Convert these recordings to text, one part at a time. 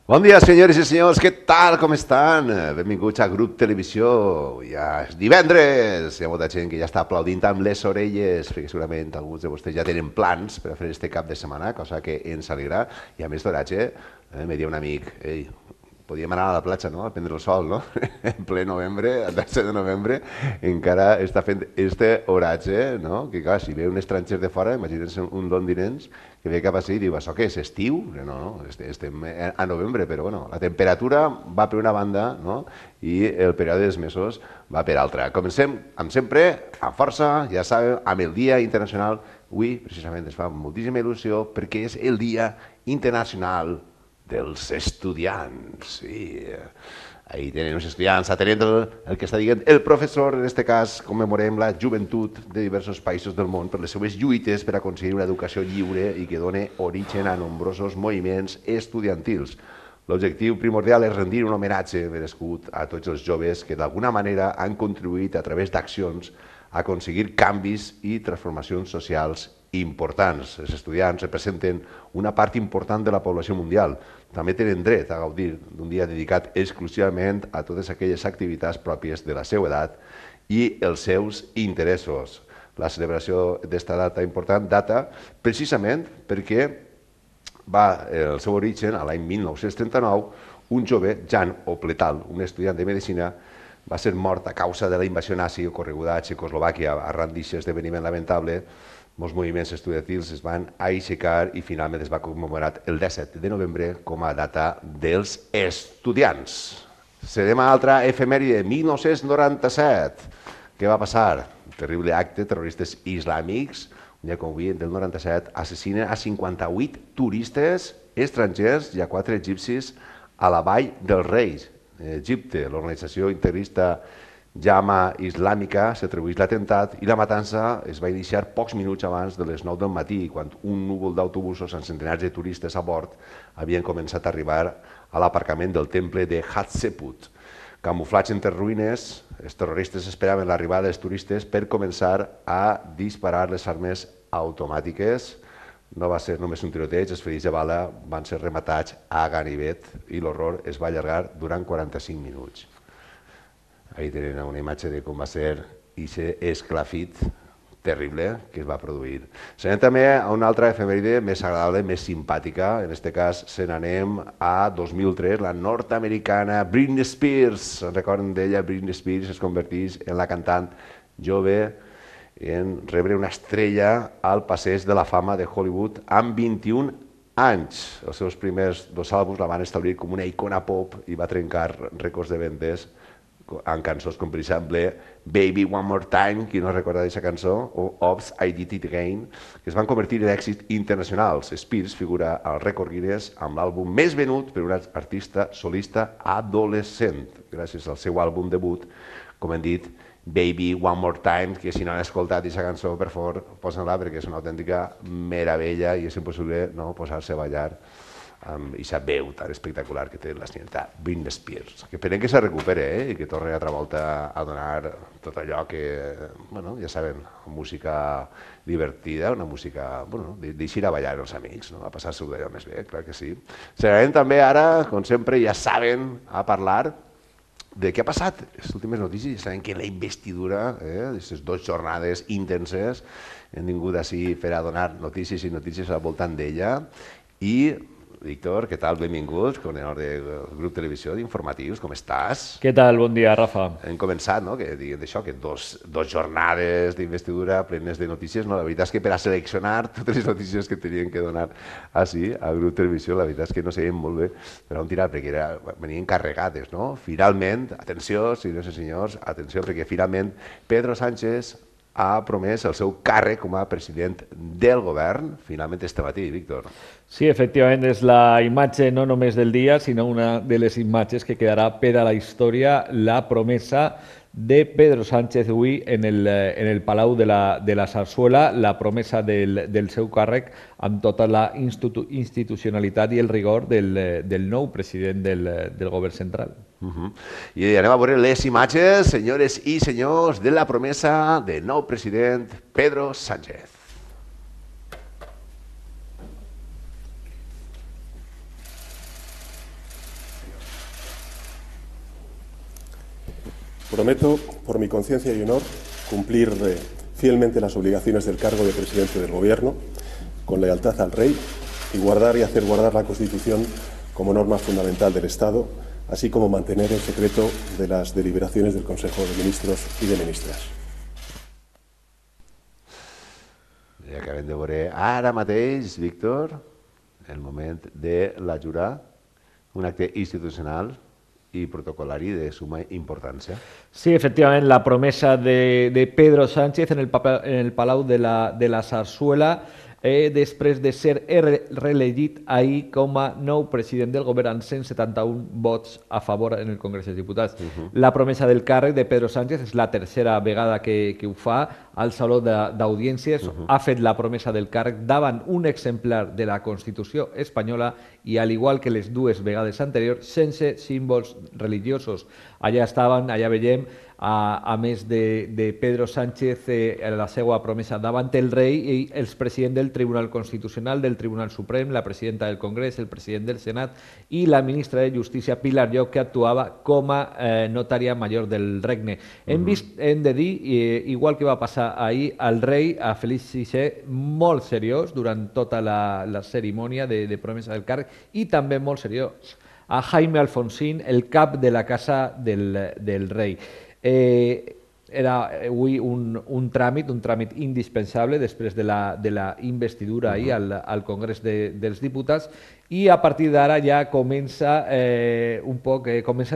Bon dia, senyores i senyors, què tal, com estan? Benvinguts a Grup Televisió. Ja és divendres, hi ha molta gent que ja està aplaudint amb les orelles, perquè segurament alguns de vostès ja tenen plans per a fer este cap de setmana, cosa que ens alegrarà. I a més d'oratge, me diu un amic, ei, podíem anar a la platja, no?, a prendre el sol, no? En ple novembre, el 12 de novembre, encara està fent este oratge, no? Que clar, si ve un estranger de fora, imagina't un londinenc que ve cap així i diu, això què és, estiu? No, no, estem a novembre, però bueno, la temperatura va per una banda, no?, i el període dels mesos va per altra. Comencem, amb sempre, amb força, ja sabeu, amb el Dia Internacional. Avui, precisament, es fa moltíssima il·lusió perquè és el Dia Internacional dels estudiants. Sí. Ahí tenen els estudiants atenent el que està dient el professor. En aquest cas commemorem la joventut de diversos països del món per les seues lluites per aconseguir una educació lliure i que doni origen a nombrosos moviments estudiantils. L'objectiu primordial és rendir un homenatge merescut a tots els joves que d'alguna manera han contribuït a través d'accions a aconseguir canvis i transformacions socials importants. Els estudiants representen una part important de la població mundial. També tenen dret a gaudir d'un dia dedicat exclusivament a totes aquelles activitats pròpies de la seva edat i els seus interessos. La celebració d'esta data important data precisament perquè va el seu origen a l'any 1939. Un jove, Jan Opletal, un estudiant de medicina, va ser mort a causa de la invasió nazi ocorreguda a Txecoslovàquia. Arran d'aquest esdeveniment lamentable, molts moviments estudiantils es van aixecar i finalment es va commemorar el 17 de novembre com a data dels estudiants. Serem a altra efemèride, 1997. Què va passar? Un terrible acte, terroristes islàmics, un dia com avui, del 97, assassinen a 58 turistes estrangers i a 4 egipcis a la Vall dels Reis, Egipte. L'organització integrista Jama Islàmica s'atribueix l'atemptat i la matança es va iniciar pocs minuts abans de les 9 del matí, quan un núvol d'autobusos amb centenars de turistes a bord havien començat a arribar a l'aparcament del temple de Hatshepsut. Camuflats entre ruïnes, els terroristes esperaven l'arribada dels turistes per començar a disparar les armes automàtiques. No va ser només un tiroteig, els ferits de bala van ser rematats a ganivet i l'horror es va allargar durant 45 minuts. Ahí tenen una imatge de com va ser aquest esclafit terrible que es va produir. Se n'anem també a una altra efemèride més agradable, més simpàtica. En aquest cas se n'anem a 2003, la nord-americana Britney Spears. Recorden d'ella? Britney Spears es converteix en la cantant jove en rebre una estrella al passeig de la fama de Hollywood amb 21 anys. Els seus primers 2 àlbums la van establir com una icona pop i va trencar rècords de vendes amb cançons com per exemple Baby One More Time, qui no recorda d'aquesta cançó, o Oops, I Did It Again, que es van convertir en èxits internacionals. Spears figura al rècord Guinness amb l'àlbum més venut per un artista solista adolescent, gràcies al seu àlbum debut, com hem dit, Baby One More Time, que si no han escoltat aquesta cançó, per favor, posen-la perquè és una autèntica meravella i és impossible no posar-se a ballar amb aquesta veu tan espectacular que té la senyora Britney Spears. Que esperem que se recupere i que torni altra volta a donar tot allò que, bueno, ja saben, música divertida, una música, bueno, d'eixir a ballar els amics, no? A passar-s'ho d'allò més bé, clar que sí. Serem també ara, com sempre, ja saben, a parlar de què ha passat. Les últimes notícies, ja saben que la investidura, aquestes 2 jornades intenses, hem vingut així per a donar notícies i notícies al voltant d'ella. I Víctor, què tal? Benvingut, coordinador del grup Televisió d'Informatius, com estàs? Què tal? Bon dia, Rafa. Hem començat, no?, que diguem d'això, que dos jornades d'investidura plenes de notícies, no? La veritat és que per a seleccionar totes les notícies que tenien que donar així al grup Televisió, la veritat és que no sabíem molt bé per on tirar, perquè venien carregades, no? Finalment, atenció, senyors i senyors, atenció, perquè finalment Pedro Sánchez ha promès el seu càrrec com a president del govern, finalment este matí, Víctor. Sí, efectivament, és la imatge no només del dia, sinó una de les imatges que quedarà per a la història, la promesa de Pedro Sánchez avui en el Palau de la Zarzuela, la promesa del seu càrrec amb tota la institucionalitat i el rigor del nou president del govern central. I anem a veure les imatges, senyores i senyors, de la promesa del nou president Pedro Sánchez. Prometo, por mi conciencia y honor, cumplir fielmente las obligaciones del cargo de presidente del Gobierno, con lealtad al Rey, y guardar y hacer guardar la Constitución como norma fundamental del Estado, así como mantener el secreto de las deliberaciones del Consejo de Ministros y de Ministras. Ja acabem de veure ara mateix, Víctor, el moment de la jurar, un acte institucional y protocolari de suma importancia. Sí, efectivamente, la promesa de Pedro Sánchez en el Palau de la Zarzuela, després de ser reelegit ahir com a nou president del govern amb 171 vots a favor en el Congrés dels Diputats. La promesa del càrrec de Pedro Sánchez és la tercera vegada que ho fa al Saló d'Audiències. Ha fet la promesa del càrrec davant un exemplar de la Constitució espanyola i, al igual que les dues vegades anteriors, sense símbols religiosos. Allà estaven, allà veiem, a més de Pedro Sánchez, la seva promesa davant el rei i els presidents del Tribunal Constitucional, del Tribunal Suprem, la presidenta del Congrés, el president del Senat i la ministra de Justícia, Pilar Llop, que actuava com a notària major del regne. Hem de dir, igual que va passar ahir, al rei, a Felip VI, molt seriós durant tota la cerimònia de promesa del càrrec, i també molt seriós a Jaime Alfonsín, el cap de la casa del rei. Era avui un tràmit indispensable després de la investidura ahir al Congrés dels Diputats, i a partir d'ara ja comencen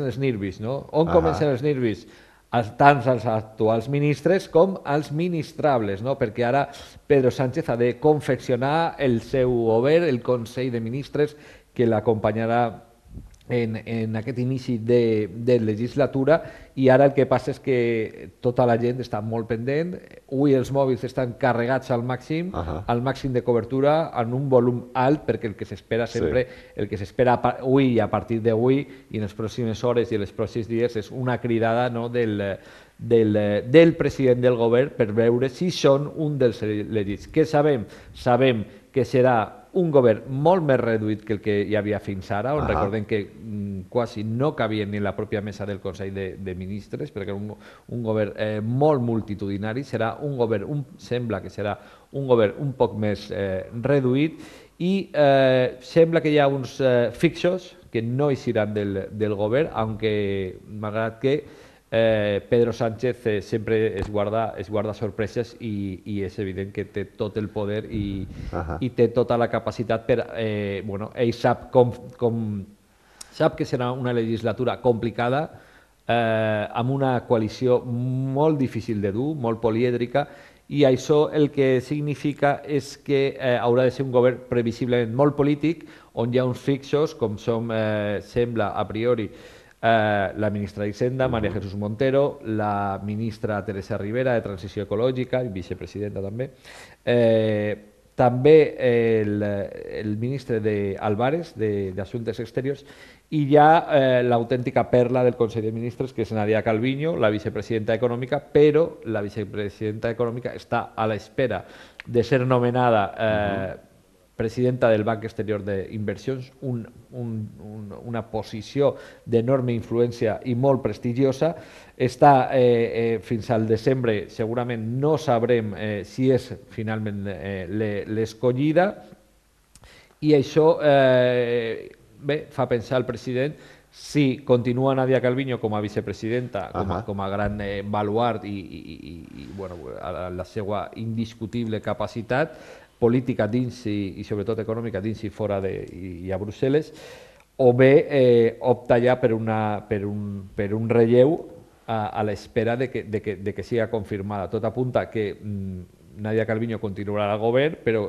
els nervis, no? On comencen els nervis? Tant als actuals ministres com als ministrables, no? Perquè ara Pedro Sánchez ha de confeccionar el seu govern, el Consell de Ministres, que l'acompanyarà en aquest inici de legislatura, i ara el que passa és que tota la gent està molt pendent. Avui els mòbils estan carregats al màxim de cobertura, en un volum alt, perquè el que s'espera sempre, el que s'espera avui i a partir d'avui i en les pròximes hores i en els pròxims dies és una cridada del president del govern per veure si són un dels elegits. Què sabem? Sabem que serà un govern molt més reduït que el que hi havia fins ara, on recordem que quasi no cabia ni la pròpia mesa del Consell de Ministres, perquè era un govern molt multitudinari. Serà un govern, sembla que serà un govern un poc més reduït, i sembla que hi ha uns fixos que no eixiran del govern, aunque malgrat que Pedro Sánchez sempre es guarda sorpreses, i és evident que té tot el poder i té tota la capacitat per... ell sap que serà una legislatura complicada, amb una coalició molt difícil de dur, molt polièdrica, i això el que significa és que haurà de ser un govern previsiblement molt polític, on hi ha uns fixos, com sembla a priori la ministra d'Hisenda, María Jesús Montero, la ministra Teresa Rivera, de Transició Ecològica, i vicepresidenta també, també el ministre Álvarez, d'Assumptes Exteriors, i ja l'autèntica perla del Consell de Ministres, que és Nadia Calviño, la vicepresidenta econòmica, però la vicepresidenta econòmica està a l'espera de ser nomenada presidenta del Banc Exterior d'Inversions, una posició d'enorme influència i molt prestigiosa. Està fins al desembre, segurament no sabrem si és finalment l'escollida, i això fa pensar al president si continua Nadia Calviño com a vicepresidenta, com a gran baluart i la seva indiscutible capacitat política dins i sobretot econòmica dins i fora i a Brussel·les, o bé opta ja per un relleu a l'espera de que siga confirmada. Tot apunta que Nadia Calviño continuarà al govern, però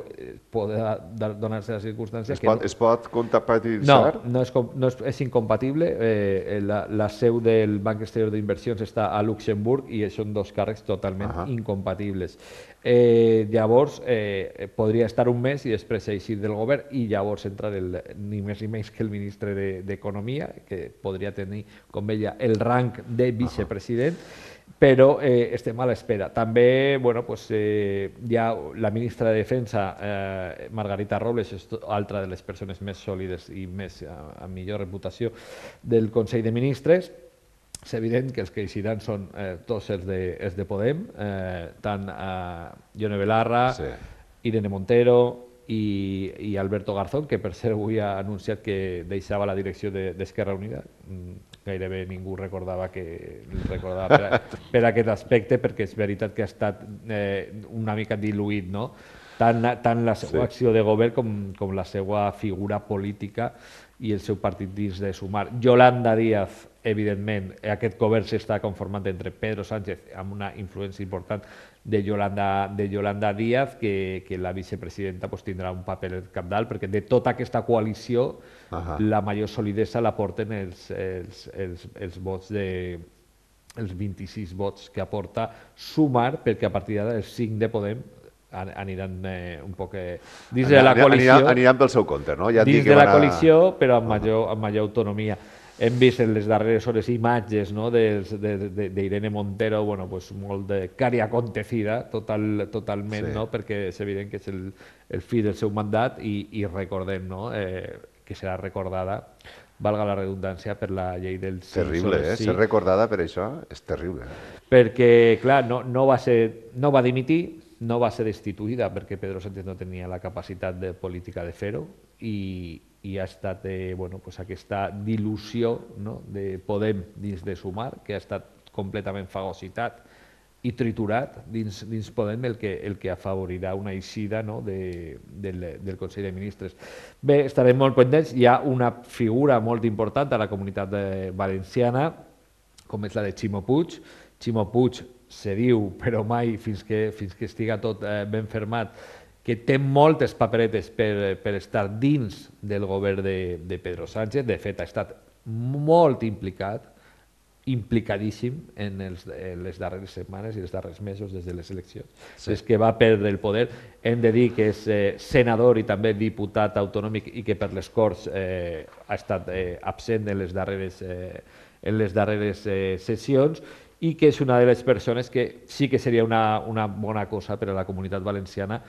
podrà donar-se les circumstàncies... Es pot compatibilitzar? No, és incompatible. La seu del Banc Exterior d'Inversions està a Luxemburg i són dos càrrecs totalment incompatibles. Llavors, podria estar un mes i després eixir del govern, i llavors entrar ni més ni menys que el ministre d'Economia, que podria tenir, com ella, el rang de vicepresident, però estem a l'espera. També hi ha la ministra de Defensa, Margarita Robles, és altra de les persones més sòlides i amb millor reputació del Consell de Ministres, és evident que els que eixiran són tots els de Podem, tant Ione Belarra, Irene Montero i Alberto Garzón, que per cert avui ha anunciat que deixava la direcció d'Esquerra Unida. Gairebé ningú recordava per aquest aspecte, perquè és veritat que ha estat una mica diluït, no? Tant la seva acció de govern com la seva figura política i el seu partit dins de Sumar. Yolanda Díaz, evidentment, aquest govern s'està conformant entre Pedro Sánchez, amb una influència important de Yolanda Díaz, que la vicepresidenta tindrà un paper cabdal, perquè de tota aquesta coalició la major solidesa la porten els vots els 26 vots que aporta Sumar, perquè a partir d'ara els 5 de Podem aniran un poc dins de la coalició. Aniran pel seu compte, no? Dins de la coalició, però amb major autonomia. Hem vist en les darreres hores imatges d'Irene Montero, molt de cari acontecida, totalment, perquè és evident que és el fi del seu mandat i recordem que serà recordada, valga la redundància, per la llei del 5 Terrible, ser recordada per això és terrible. Perquè, clar, no va dimitir, no va ser destituïda perquè Pedro Sánchez no tenia la capacitat política de fer-ho i ha estat aquesta dilució de Podem dins de Sumar, que ha estat completament fagocitat i triturat dins Podem, el que afavorirà una eixida del Consell de Ministres. Bé, estarem molt pendents. Hi ha una figura molt important a la comunitat valenciana, com és la de Ximo Puig. Ximo Puig se diu, però mai fins que estiga tot ben fermat, que té moltes paperetes per estar dins del govern de Pedro Sánchez. De fet, ha estat molt implicadíssim en les darreres setmanes i els darrers mesos des de les eleccions. Des que va perdre el poder, hem de dir que és senador i també diputat autonòmic i que per les Corts ha estat absent en les darreres sessions, i que és una de les persones que sí que seria una bona cosa per a la comunitat valenciana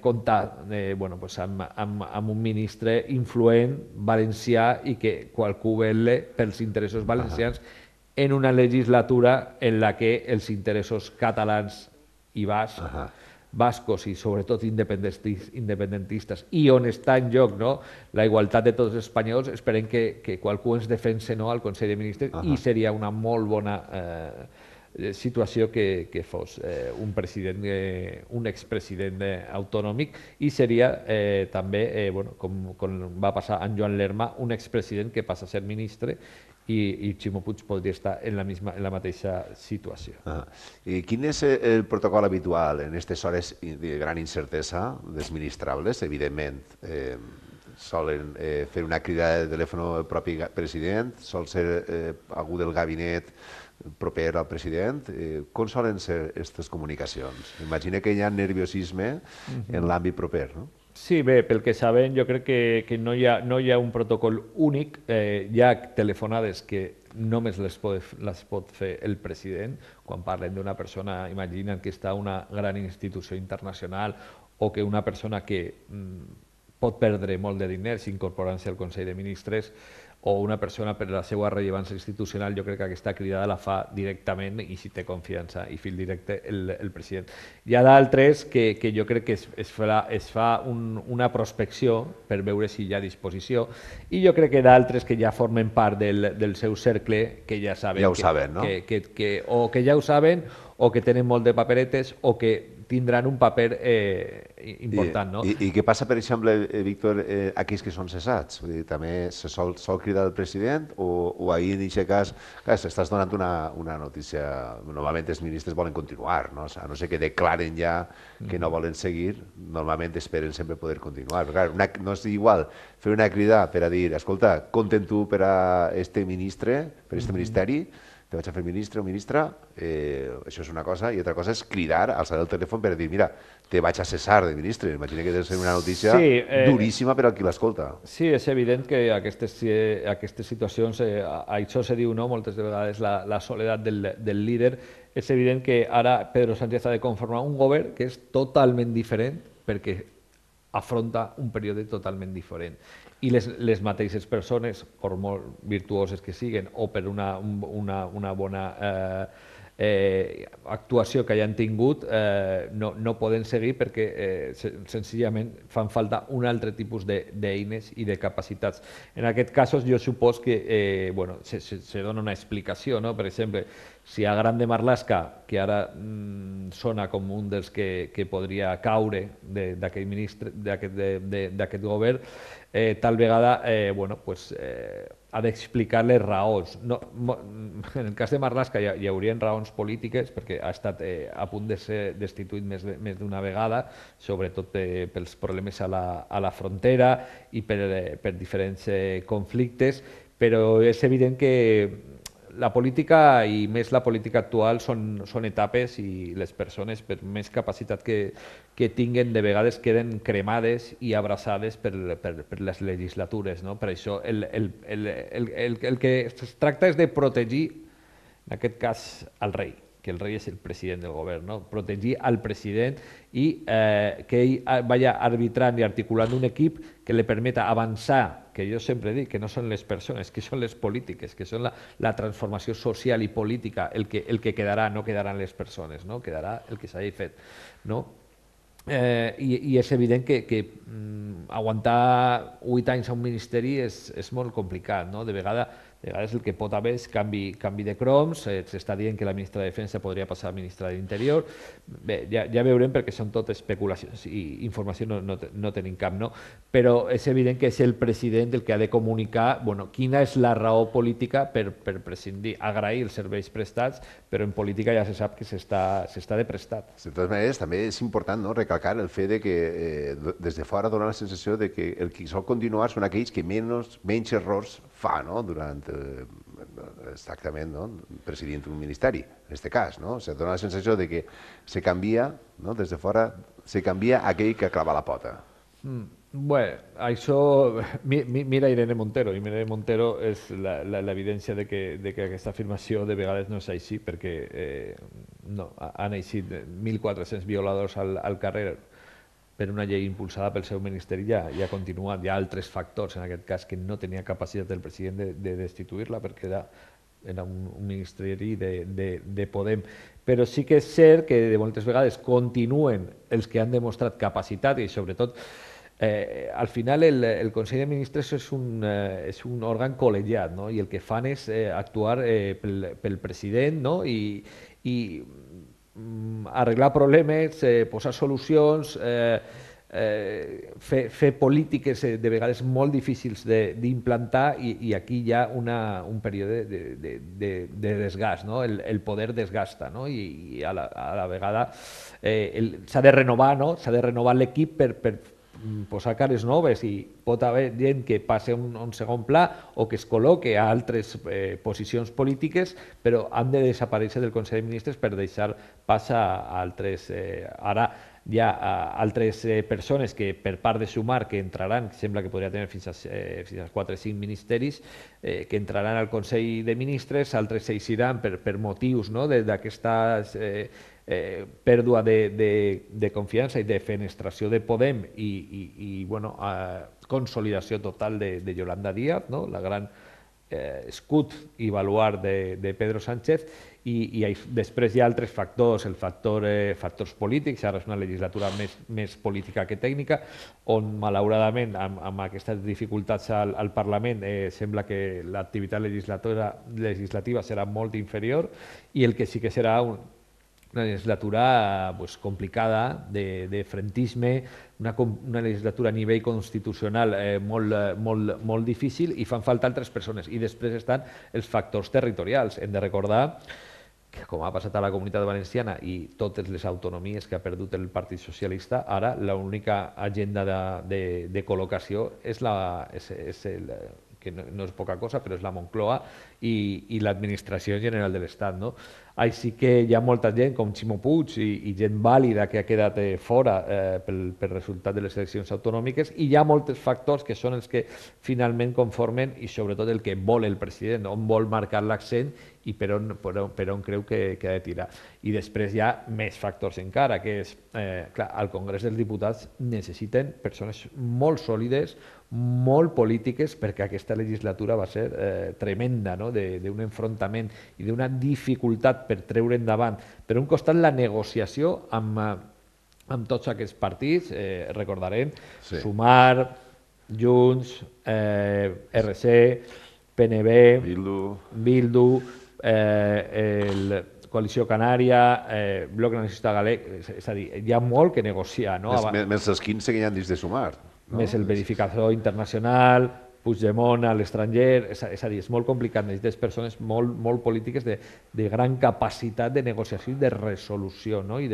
comptar amb un ministre influent valencià i que qualcú vetlla pels interessos valencians en una legislatura en la que els interessos catalans i bascos i sobretot independentistes i on està en joc la igualtat de tots els espanyols, esperem que qualcú ens defense al Consell de Ministres i seria una molt bona situació que fos un expresident autonòmic i seria també, com va passar amb Joan Lerma, un expresident que passa a ser ministre i Ximo Puig podria estar en la mateixa situació. I quin és el protocol habitual en aquestes hores de gran incertesa, desministrables, evidentment? Solen fer una crida de telèfon al propi president? Sol ser algú del gabinet proper al president? Com solen ser aquestes comunicacions? Imagina que hi ha nerviosisme en l'àmbit proper, no? Sí, bé, pel que sabem, jo crec que no hi ha un protocol únic. Hi ha telefonades que només les pot fer el president. Quan parlen d'una persona, imaginen que està a una gran institució internacional o que una persona que pot perdre molt de diners incorporant-se al Consell de Ministres, o una persona per la seva rellevància institucional, jo crec que aquesta cridada la fa directament i si té confiança i fil directe el president. Hi ha d'altres que jo crec que es fa una prospecció per veure si hi ha disposició i jo crec que d'altres que ja formen part del seu cercle que ja saben, ja ho saben, no? O que ja ho saben o que tenen molt de paperetes o que tindran un paper important, no? I què passa, per exemple, Víctor, aquells que són cessats? Vull dir, també se sol cridar el president o ahir en aquest cas, s'estàs donant una notícia, normalment els ministres volen continuar, no? A no ser que declaren ja que no volen seguir, normalment esperen sempre poder continuar. Però clar, no és igual fer una crida per a dir, escolta, compten tu per a este ministre, per a este ministeri, te vaig a fer ministre o ministra, això és una cosa, i altra cosa és cridar, alçar el telèfon per dir, mira, te vaig a cessar de ministre. Imagina que ha de ser una notícia duríssima per al qui l'escolta. Sí, és evident que aquestes situacions, això se diu moltes vegades la soledat del líder, és evident que ara Pedro Sánchez ha de conformar un govern que és totalment diferent perquè afronta un període totalment diferent. i les mateixes persones, per molt virtuoses que siguin o per una bona actuació que hayan tingut, no poden seguir perquè senzillament fan falta un altre tipus d'eines i de capacitats. En aquest cas, jo supos que se dona una explicació, no? Per exemple, si a Grande Marlaska, que ara sona com un dels que podria caure d'aquest govern, tal vegada ha d'explicar les raons. En el cas de Marlaska hi haurien raons polítiques perquè ha estat a punt de ser destituït més d'una vegada, sobretot pels problemes a la frontera i per diferents conflictes, però és evident que la política, i més la política actual, són etapes i les persones, per més capacitat que tinguen, de vegades queden cremades i abraçades per les legislatures. Per això el que es tracta és de protegir, en aquest cas, al rei, que el rei és el president del govern, protegir al president i que ell vagi arbitrant i articulant un equip que li permeta avançar, que jo sempre dic que no són les persones, que són les polítiques, que són la transformació social i política el que quedarà, no quedaran les persones, quedarà el que s'hagi fet. I és evident que aguantar 8 anys a un ministeri és molt complicat. De vegades el que pot haver és canvi de croms, s'està dient que la ministra de Defensa podria passar a ministra d'Interior. Bé, ja veurem, perquè són tot especulacions i informació no tenim cap, però és evident que és el president el que ha de comunicar quina és la raó política per prescindir, agrair els serveis prestats, però en política ja se sap que s'està de prestat. De totes maneres, també és important recalcar el fet de que des de fora dona la sensació de que el qui sol continuar són aquells que menys errors fa durant exactament presidint un ministeri, en aquest cas. Se dona la sensació de que se canvia, des de fora, se canvia aquell que clava la pota. Bé, això... Mira Irene Montero, i Irene Montero és l'evidència de que aquesta afirmació de vegades no és així, perquè han eixit 1.400 violadors al carrer per una llei impulsada pel seu ministeri, ja ha continuat. Hi ha altres factors, en aquest cas, que no tenia capacitat el president de destituir-la perquè era un ministeri de Podem. Però sí que és cert que de moltes vegades continuen els que han demostrat capacitat i, sobretot, al final el Consell de Ministres és un òrgan col·legiat, i el que fan és actuar pel president i arreglar problemes, posar solucions, fer polítiques de vegades molt difícils d'implantar, i aquí hi ha un període de desgast, el poder desgasta, i a la vegada s'ha de renovar l'equip per posar cares noves, i pot haver gent que passi a un segon pla o que es col·loque a altres posicions polítiques, però han de desaparèixer del Consell de Ministres per deixar pas a altres. Ara hi ha altres persones que, per part de Sumar, que entraran, sembla que podria tenir fins a 4 o 5 ministeris, que entraran al Consell de Ministres, altres s'eixiran per motius d'aquesta pèrdua de confiança i de fenestració de Podem i consolidació total de Yolanda Díaz, la gran escut i baluard de Pedro Sánchez, i després hi ha altres factors, factors polítics. Ara és una legislatura més política que tècnica, on malauradament amb aquestes dificultats al Parlament sembla que l'activitat legislativa serà molt inferior, i el que sí que serà una legislatura complicada, de frentisme, una legislatura a nivell constitucional molt difícil, i fan falta altres persones. I després estan els factors territorials. Hem de recordar que, com ha passat a la Comunitat Valenciana i totes les autonomies que ha perdut el Partit Socialista, ara l'única agenda de col·locació que no és poca cosa, però és la Moncloa i l'administració general de l'Estat. Així que hi ha molta gent com Ximo Puig i gent vàlida que ha quedat fora pel resultat de les eleccions autonòmiques, i hi ha molts factors que són els que finalment conformen, i sobretot el que vol el president, on vol marcar l'accent i per on creu que ha de tirar. I després hi ha més factors encara, que és, clar, al Congrés dels Diputats necessiten persones molt sòlides, molt polítiques, perquè aquesta legislatura va ser tremenda, no? D'un enfrontament i d'una dificultat per treure endavant, per un costat, la negociació amb tots aquests partits, recordarem, Sumar, Junts, RC, PNB, Bildu, Coalició Canària, Bloc Nacionalista Galec, és a dir, hi ha molt que negociar. Més els 15 que hi ha dins de Sumar. Més el verificador internacional, Puigdemont a l'estranger, és a dir, és molt complicat, necessites persones molt polítiques de gran capacitat de negociació i de resolució, i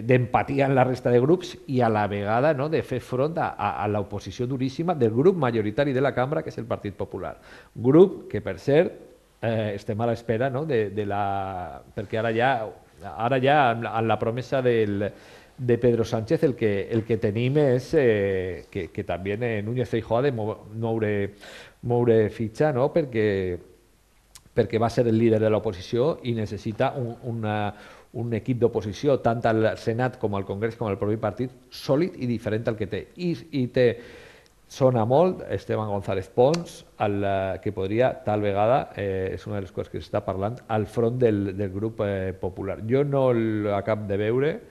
d'empatia en la resta de grups, i a la vegada de fer front a l'oposició duríssima del grup majoritari de la cambra, que és el Partit Popular. Grup que, per cert, estem a l'espera, perquè ara ja en la promesa de Pedro Sánchez el que tenim és que també Núñez Feijóo ha de moure fitxa, perquè va ser el líder de l'oposició i necessita un equip d'oposició, tant al Senat com al Congrés com al propi partit, sòlid i diferent al que té. I sona molt Esteban González Pons, que podria, tal vegada, és una de les coses que s'està parlant, al front del grup popular. Jo no l'acabo de veure,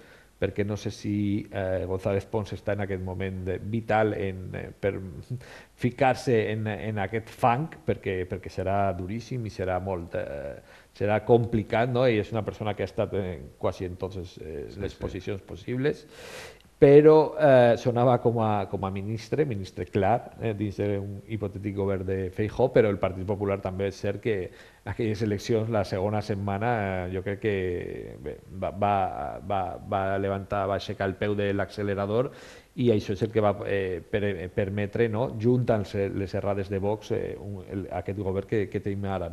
perquè no sé si González Pons està en aquest moment vital per ficar-se en aquest fang, perquè serà duríssim i serà complicat, i és una persona que ha estat quasi en totes les posicions possibles, però sonava com a ministre clar, dins d'un hipotètic govern de Feijóo, però el Partit Popular també és cert que aquelles eleccions, la segona setmana, jo crec que va aixecar el peu de l'accelerador, i això és el que va permetre, junt amb les errades de Vox, aquest govern que tenim ara.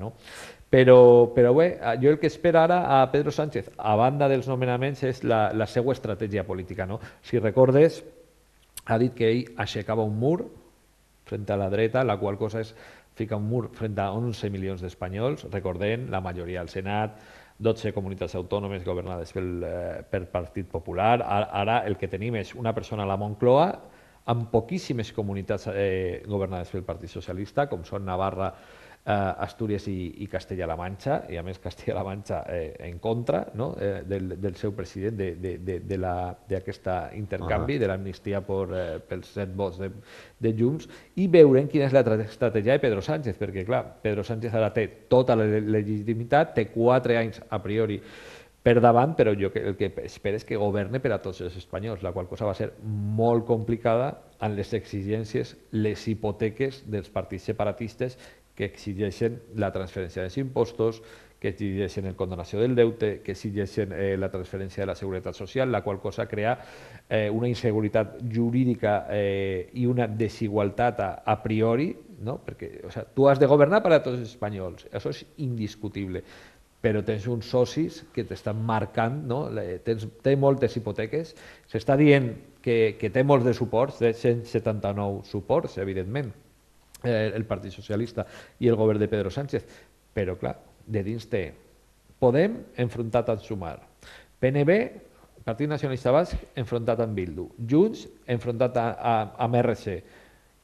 Però bé, jo el que espero ara a Pedro Sánchez, a banda dels nomenaments, és la seva estratègia política. Si recordes, ha dit que ell aixecava un mur frente a la dreta, la qual cosa és ficar un mur frente a 11 milions d'espanyols, recordem, la majoria al Senat, 12 comunitats autònomes governades pel Partit Popular. Ara el que tenim és una persona a la Moncloa amb poquíssimes comunitats governades pel Partit Socialista, com són Navarra, Astúries i Castella-La Manxa, i a més Castella-La Manxa en contra del seu president, d'aquest intercanvi, de l'amnistia pels 7 vots de Junts, i veurem quina és l'estratègia de Pedro Sánchez, perquè clar, Pedro Sánchez ara té tota la legitimitat, té 4 anys a priori per davant, però jo el que espero és que governe per a tots els espanyols, la qual cosa va ser molt complicada amb les exigències, les hipoteques dels partits separatistes que exigeixen la transferència dels impostos, que exigeixen la condonació del deute, que exigeixen la transferència de la seguretat social, la qual cosa crea una inseguretat jurídica i una desigualtat a priori, perquè tu has de governar per a tots els espanyols, això és indiscutible, però tens uns socis que t'estan marcant, té moltes hipoteques, s'està dient que té molts de suports, té 179 suports, evidentment, el Partit Socialista i el govern de Pedro Sánchez, però clar, de dins té Podem enfrontat amb Sumar, PNB, Partit Nacionalista Basc, enfrontat amb Bildu, Junts enfrontat amb RC,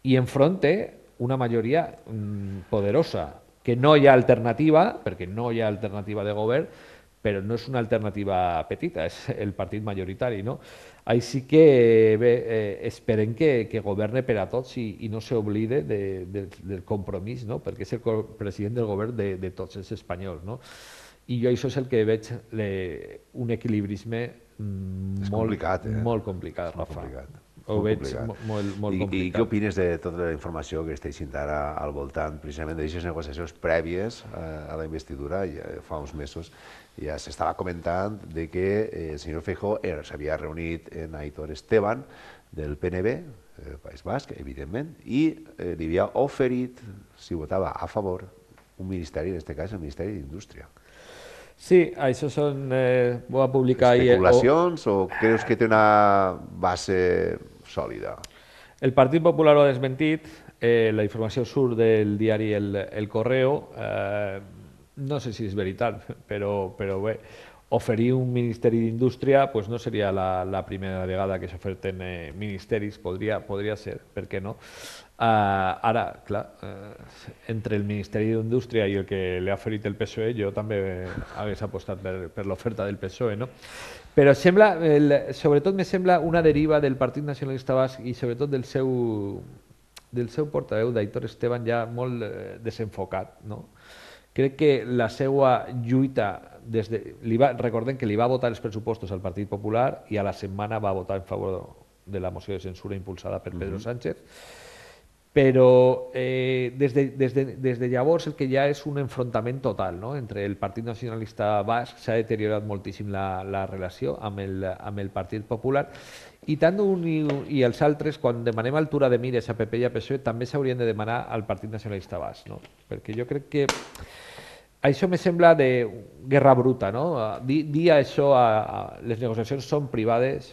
i enfront té una majoria poderosa, que no hi ha alternativa, perquè no hi ha alternativa de govern, però no és una alternativa petita, és el partit majoritari, Així que bé, esperem que governe per a tots i no s'oblide del compromís, perquè és el president del govern de tots els espanyols. I jo això és el que veig, un equilibrisme molt complicat, Rafa. Ho veig molt complicat. I què opines de tota la informació que està eixint ara al voltant precisament d'aquestes negociacions prèvies a la investidura? Fa uns mesos ja s'estava comentant que el senyor Feijóo s'havia reunit amb Aitor Esteban del PNB, País Basc, evidentment, i li havia oferit, si votava a favor, un ministeri, en aquest cas el Ministeri d'Indústria. Sí, això són... Ho va publicar ahir... Especulacions o creus que té una base sòlida? El Partit Popular ho ha desmentit, la informació surt del diari El Correo, no sé si és veritat, però bé, oferir un Ministeri d'Indústria pues no seria la primera vegada que s'oferten ministeris, podria ser, per què no? Ara, clar, entre el Ministeri d'Indústria i el que li ha oferit el PSOE, jo també hagués apostat per l'oferta del PSOE, no? Però sembla, sobretot me sembla una deriva del Partit Nacionalista Basc i sobretot del seu portaveu, d'Aitor Esteban, ja molt desenfocat, no? Crec que la seva lluita, recordem que li va votar els pressupostos al Partit Popular i a la setmana va votar en favor de la moció de censura impulsada per Pedro Sánchez, però des de llavors el que ja és un enfrontament total, no? Entre el Partit Nacionalista Basc, s'ha deteriorat moltíssim la relació amb el Partit Popular, i tant un i els altres, quan demanem altura de mires a PP i a PSOE, també s'haurien de demanar al Partit Nacionalista Basc, no? Perquè jo crec que això me sembla de guerra bruta, no? Dir això, les negociacions són privades,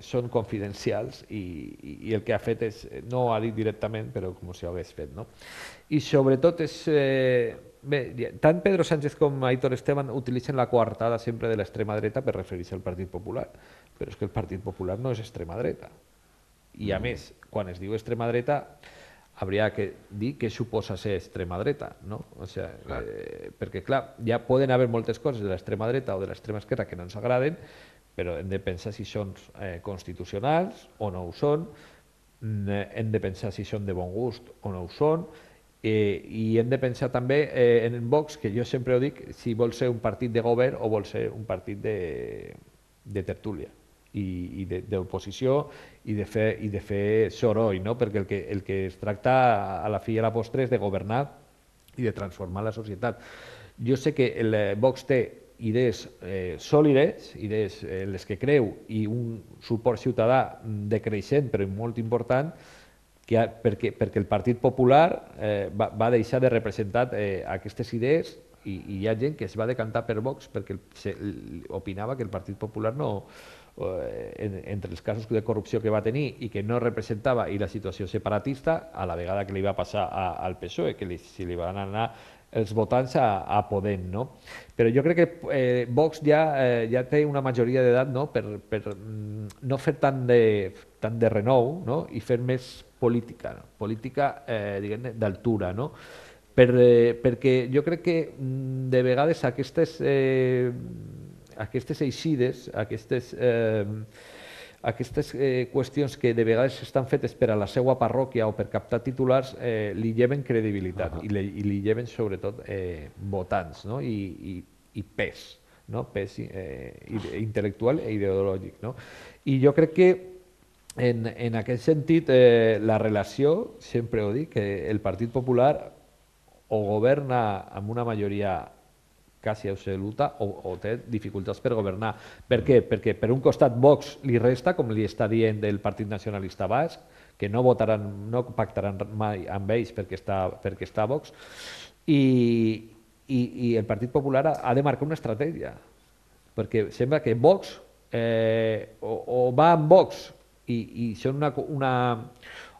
són confidencials i el que ha fet és, no ho ha dit directament, però com si ho hagués fet, no? I sobretot és... Bé, tant Pedro Sánchez com Aitor Esteban utilitzen la coartada sempre de l'extrema dreta per referir-se al Partit Popular, però és que el Partit Popular no és extrema dreta. I a més, quan es diu extrema dreta, hauria que dir què suposa ser extrema dreta, no? O sigui, perquè, clar, ja poden haver moltes coses de l'extrema dreta o de l'extrema esquerra que no ens agraden, però hem de pensar si són constitucionals o no ho són, hem de pensar si són de bon gust o no ho són, i hem de pensar també en Vox, que jo sempre ho dic, si vol ser un partit de govern o vol ser un partit de tertúlia i d'oposició i de fer soroll, no? Perquè el que es tracta a la fi i a la postre és de governar i de transformar la societat. Jo sé que el Vox té idees sòlides, idees en les que creu, i un suport ciutadà decreixent però molt important, perquè el Partit Popular va deixar de representar aquestes idees i hi ha gent que es va decantar per Vox perquè opinava que el Partit Popular no, entre els casos de corrupció que va tenir i que no representava, i la situació separatista, a la vegada que li va passar al PSOE, que si li van anar els votants a Podem, no? Però jo crec que Vox ja té una majoria d'edat, no? Per no fer tant de renou, no? I fer més política, diguem-ne, d'altura, no? Perquè jo crec que de vegades aquestes eixides, aquestes qüestions que de vegades estan fetes per a la seva parròquia o per captar titulars li lleven credibilitat i li lleven sobretot votants, no? I pes, no? Pes intel·lectual i ideològic, no? I jo crec que en aquest sentit la relació, sempre ho dic, que el Partit Popular o governa amb una majoria quasi absoluta o té dificultats per governar. Per què? Perquè per un costat Vox li resta, com li està dient el Partit Nacionalista Basc, que no pactaran mai amb ells perquè està Vox, i el Partit Popular ha de marcar una estratègia, perquè sembla que Vox o va amb Vox i són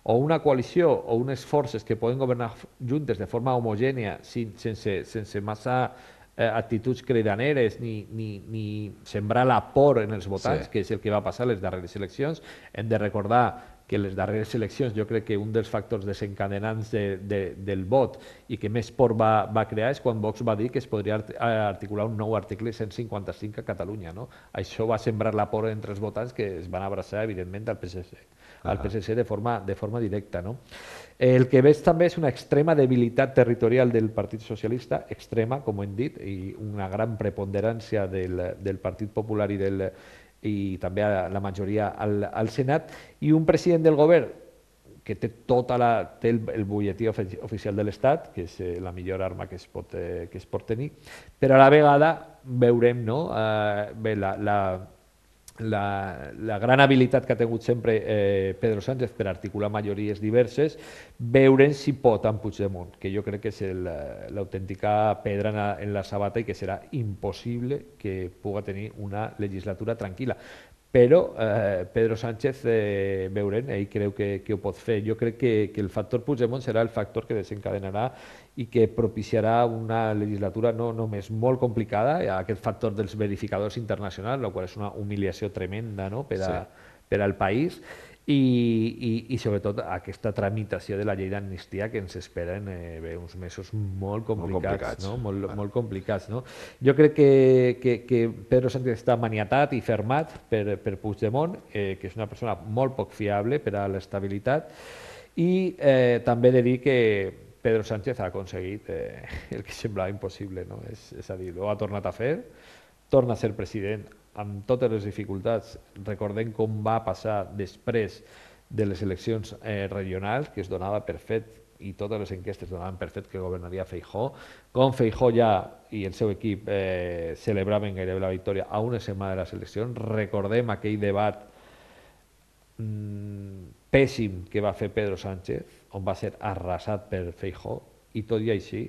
una coalició o unes forces que poden governar juntes de forma homogènia sense massa actituds cridaneres ni sembrar la por en els votants, que és el que va passar a les darreres eleccions. Hem de recordar que en les darreres eleccions jo crec que un dels factors desencadenants del vot i que més por va crear és quan Vox va dir que es podria articular un nou article 155 a Catalunya, no? Això va sembrar la por entre els votants, que es van abraçar evidentment al PSC de forma directa, no? El que veig també és una extrema debilitat territorial del Partit Socialista, extrema, com hem dit, i una gran preponderància del Partit Popular i també la majoria al Senat, i un president del govern que té el butlletí oficial de l'Estat, que és la millor arma que es pot tenir, però a la vegada veurem, no? Bé, la gran habilitat que ha tingut sempre Pedro Sánchez per articular majories diverses, veure si pot amb Puigdemont, que jo crec que és l'autèntica pedra en la sabata i que serà impossible que pugui tenir una legislatura tranquil·la. Però Pedro Sánchez, veurem, ell creu que ho pot fer. Jo crec que el factor Puigdemont serà el factor que desencadenarà i que propiciarà una legislatura no només molt complicada, aquest factor dels verificadors internacionals, la qual és una humiliació tremenda, no? per al país, i sobretot aquesta tramitació de la llei d'amnistia que ens esperen uns mesos molt complicats. Molt complicats. No? Jo crec que Pedro Sánchez està maniatat i fermat per Puigdemont, que és una persona molt poc fiable per a l'estabilitat, i també he de dir que Pedro Sánchez ha aconseguit el que semblava impossible, no? És a dir, ho ha tornat a fer, torna a ser president amb totes les dificultats. Recordem com va passar després de les eleccions regionals, que es donava per fet, i totes les enquestes donaven per fet que governaria Feijóo, com Feijóo ja i el seu equip celebraven gairebé la victòria a una setmana de les eleccions. Recordem aquell debat pèssim que va fer Pedro Sánchez, on va ser arrasat per Feijóo, i tot i així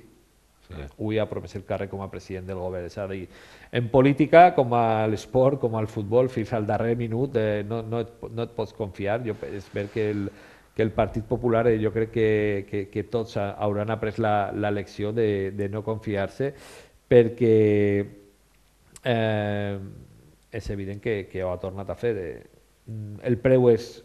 avui ha promès el càrrec com a president del govern. És a dir, en política, com a l'esport, com al futbol, fins al darrer minut no et pots confiar. És ver que el Partit Popular, jo crec que tots hauran après la lecció de no confiar-se, perquè és evident que ho ha tornat a fer. El preu és,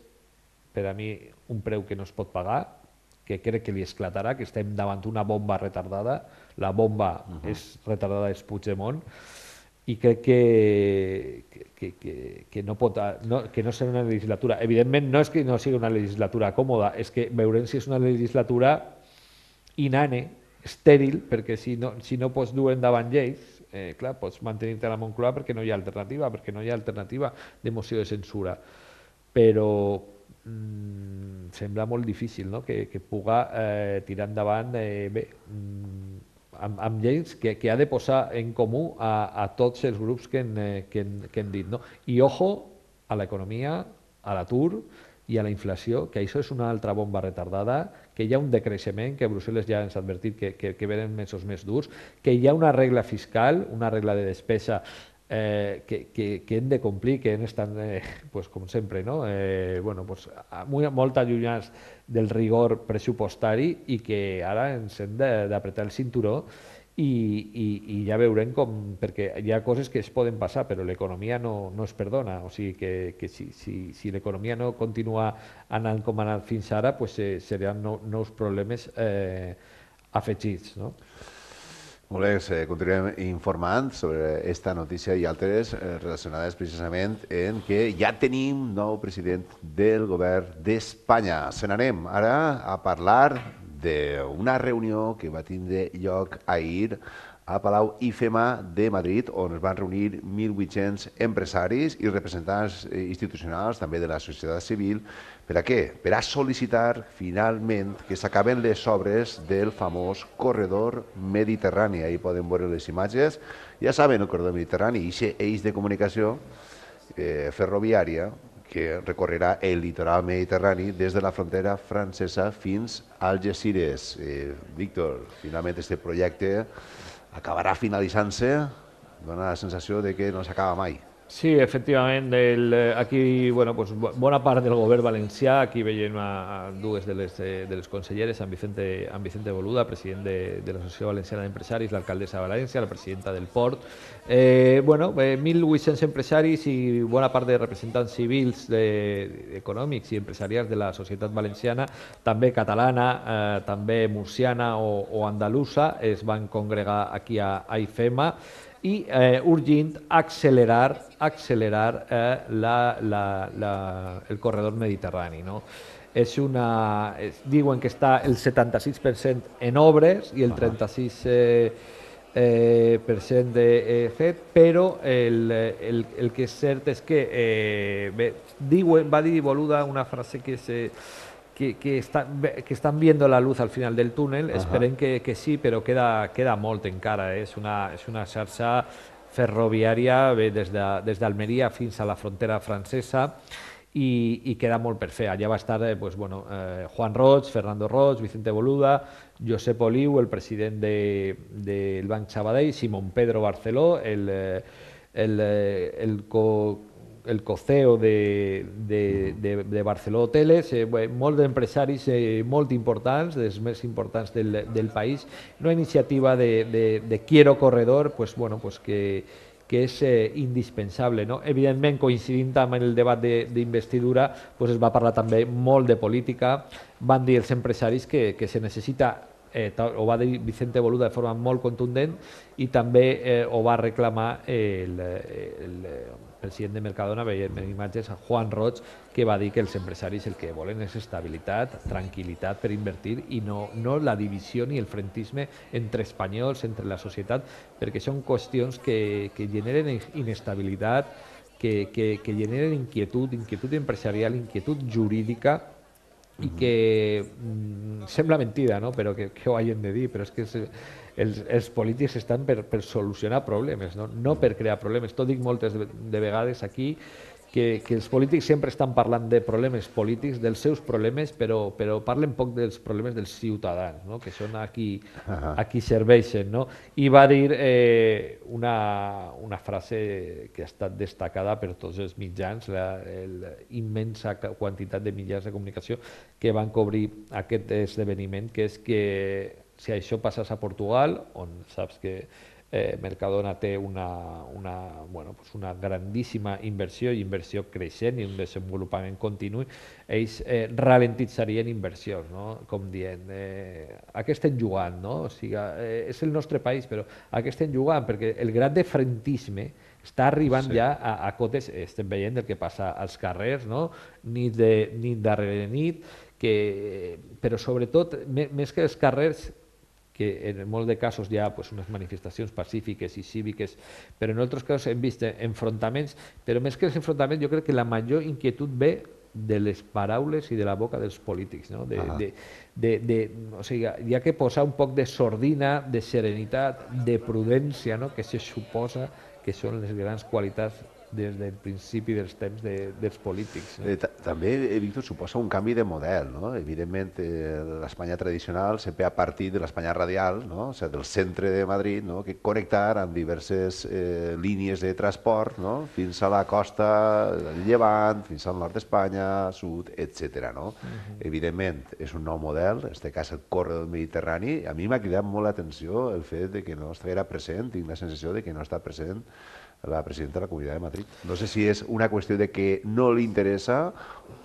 per a mi, un preu que no es pot pagar, que crec que li esclatarà, que estem davant una bomba retardada. La bomba és retardada, és Puigdemont, i crec que no serà una legislatura. Evidentment, no és que no sigui una legislatura còmoda, és que veurem si és una legislatura inane, estèril, perquè si no pots dur endavant lleis, clar, pots mantenir-te a la Moncloa perquè no hi ha alternativa de moció de censura. Però sembla molt difícil, no? que puga tirar endavant amb lleis que ha de posar en comú a tots els grups que hem dit. No? I ojo a l'economia, a l'atur i a la inflació, que això és una altra bomba retardada, que hi ha un decreixement, que Brussel·les ja ens ha advertit que venen mesos més durs, que hi ha una regla fiscal, una regla de despesa que hem de complir, que estan, com sempre, molt allunyats del rigor pressupostari, i que ara ens hem d'apretar el cinturó i ja veurem com, perquè hi ha coses que es poden passar, però l'economia no es perdona. O sigui que si l'economia no continua anant com ha anat fins ara, seran nous problemes afegits. Molt bé, continuem informant sobre aquesta notícia i altres relacionades precisament en que ja tenim nou president del govern d'Espanya. Se n'anem ara a parlar d'una reunió que va tindre lloc ahir a Palau IFEMA de Madrid, on es van reunir 1.800 empresaris i representants institucionals, també de la societat civil. Per a què? Per a sol·licitar finalment que s'acaben les obres del famós corredor mediterrani. Ahí poden veure les imatges. Ja saben, el corredor mediterrani, aquest eix de comunicació ferroviària que recorrerà el litoral mediterrani des de la frontera francesa fins a Algesires. Víctor, finalment aquest projecte acabarà finalitzant-se, dona la sensació de que no s'acaba mai. Sí, efectivament, aquí bona part del govern valencià, aquí veiem dues de les conselleres, amb Vicente Boluda, president de l'Associació Valenciana d'Empresaris, l'alcaldessa de València, la presidenta del Port. 1.800 empresaris i bona part de representants civils, econòmics i empresarials de la societat valenciana, també catalana, també murciana o andalusa, es van congregar aquí a IFEMA, i urgint accelerar el corredor mediterrani. Diuen que està el 76% en obres i el 36% fet, però el que és cert és que va dir Boluda una frase que están viendo la luz al final del túnel. Esperem que sí, però queda molt encara. És una xarxa ferroviària, ve des d'Almeria fins a la frontera francesa, i queda molt per fer. Allà va estar Juan Roig, Fernando Roig, Vicente Boluda, Josep Oliu, el president del Banc Sabadell, Simón Pedro Barceló, el co-CEO de Barceló Hoteles, molts d'empresaris molt importants, dels més importants del país. Una iniciativa de Quiero Corredor que és indispensable. Evidentment, coincidint amb el debat d'investidura, es va parlar també molt de política. Van dir els empresaris que se necessita, ho va dir Vicente Boluda de forma molt contundent, i també ho va reclamar el president de Mercadona, veiem en imatges, Juan Roig, que va dir que els empresaris el que volen és estabilitat, tranquil·litat per invertir, i no la divisió ni el frentisme entre espanyols, entre la societat, perquè són qüestions que generen inestabilitat, que generen inquietud empresarial, inquietud jurídica, i que sembla mentida, no? Però que ho hagin de dir, però és que els polítics estan per solucionar problemes, no per crear problemes. T'ho dic moltes de vegades aquí, que els polítics sempre estan parlant de problemes polítics, dels seus problemes, però parlen poc dels problemes dels ciutadans, que són a qui serveixen. I va dir una frase que ha estat destacada per tots els mitjans, la immensa quantitat de mitjans de comunicació que van cobrir aquest esdeveniment, que és que si això passés a Portugal, on saps que Mercadona té una grandíssima inversió creixent i un desenvolupament continu, ells ralentitzarien inversions, com dient, a què estem jugant? O sigui, és el nostre país, però a què estem jugant? Perquè el grad de frentisme està arribant ja a cotes, estem veient el que passa als carrers, nit darrere nit, però sobretot, més que els carrers, que en molts de casos hi ha unes manifestacions pacífiques i cíviques, però en altres casos hem vist enfrontaments, però més que els enfrontaments jo crec que la major inquietud ve de les paraules i de la boca dels polítics. O sigui, hi ha que posar un poc de sordina, de serenitat, de prudència, que se suposa que són les grans qualitats des del principi dels temps dels polítics. També, Víctor, suposa un canvi de model. Evidentment, l'Espanya tradicional sempre a partir de l'Espanya radial, del centre de Madrid, que connectar amb diverses línies de transport fins a la costa del Llevant, fins al nord d'Espanya, sud, etc. Evidentment, és un nou model, en aquest cas el corredor mediterrani. A mi m'ha cridat molt l'atenció el fet que no estiguera present, tinc la sensació que no està present la presidenta de la Comunitat de Madrid. No sé si és una qüestió de que no li interessa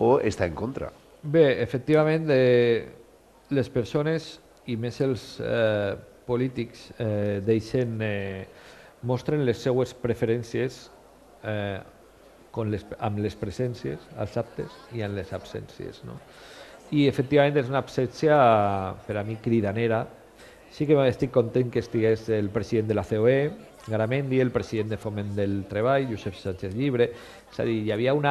o està en contra. Bé, efectivament, les persones, i més els polítics, mostren les seues preferències amb les presències, als actes, i amb les absències. I, efectivament, és una absència, per a mi, cridanera. Sí que estic content que estigués el president de la COE, Garamendi, el president de Foment del Treball, Josep Sánchez Llibre. És a dir, hi havia són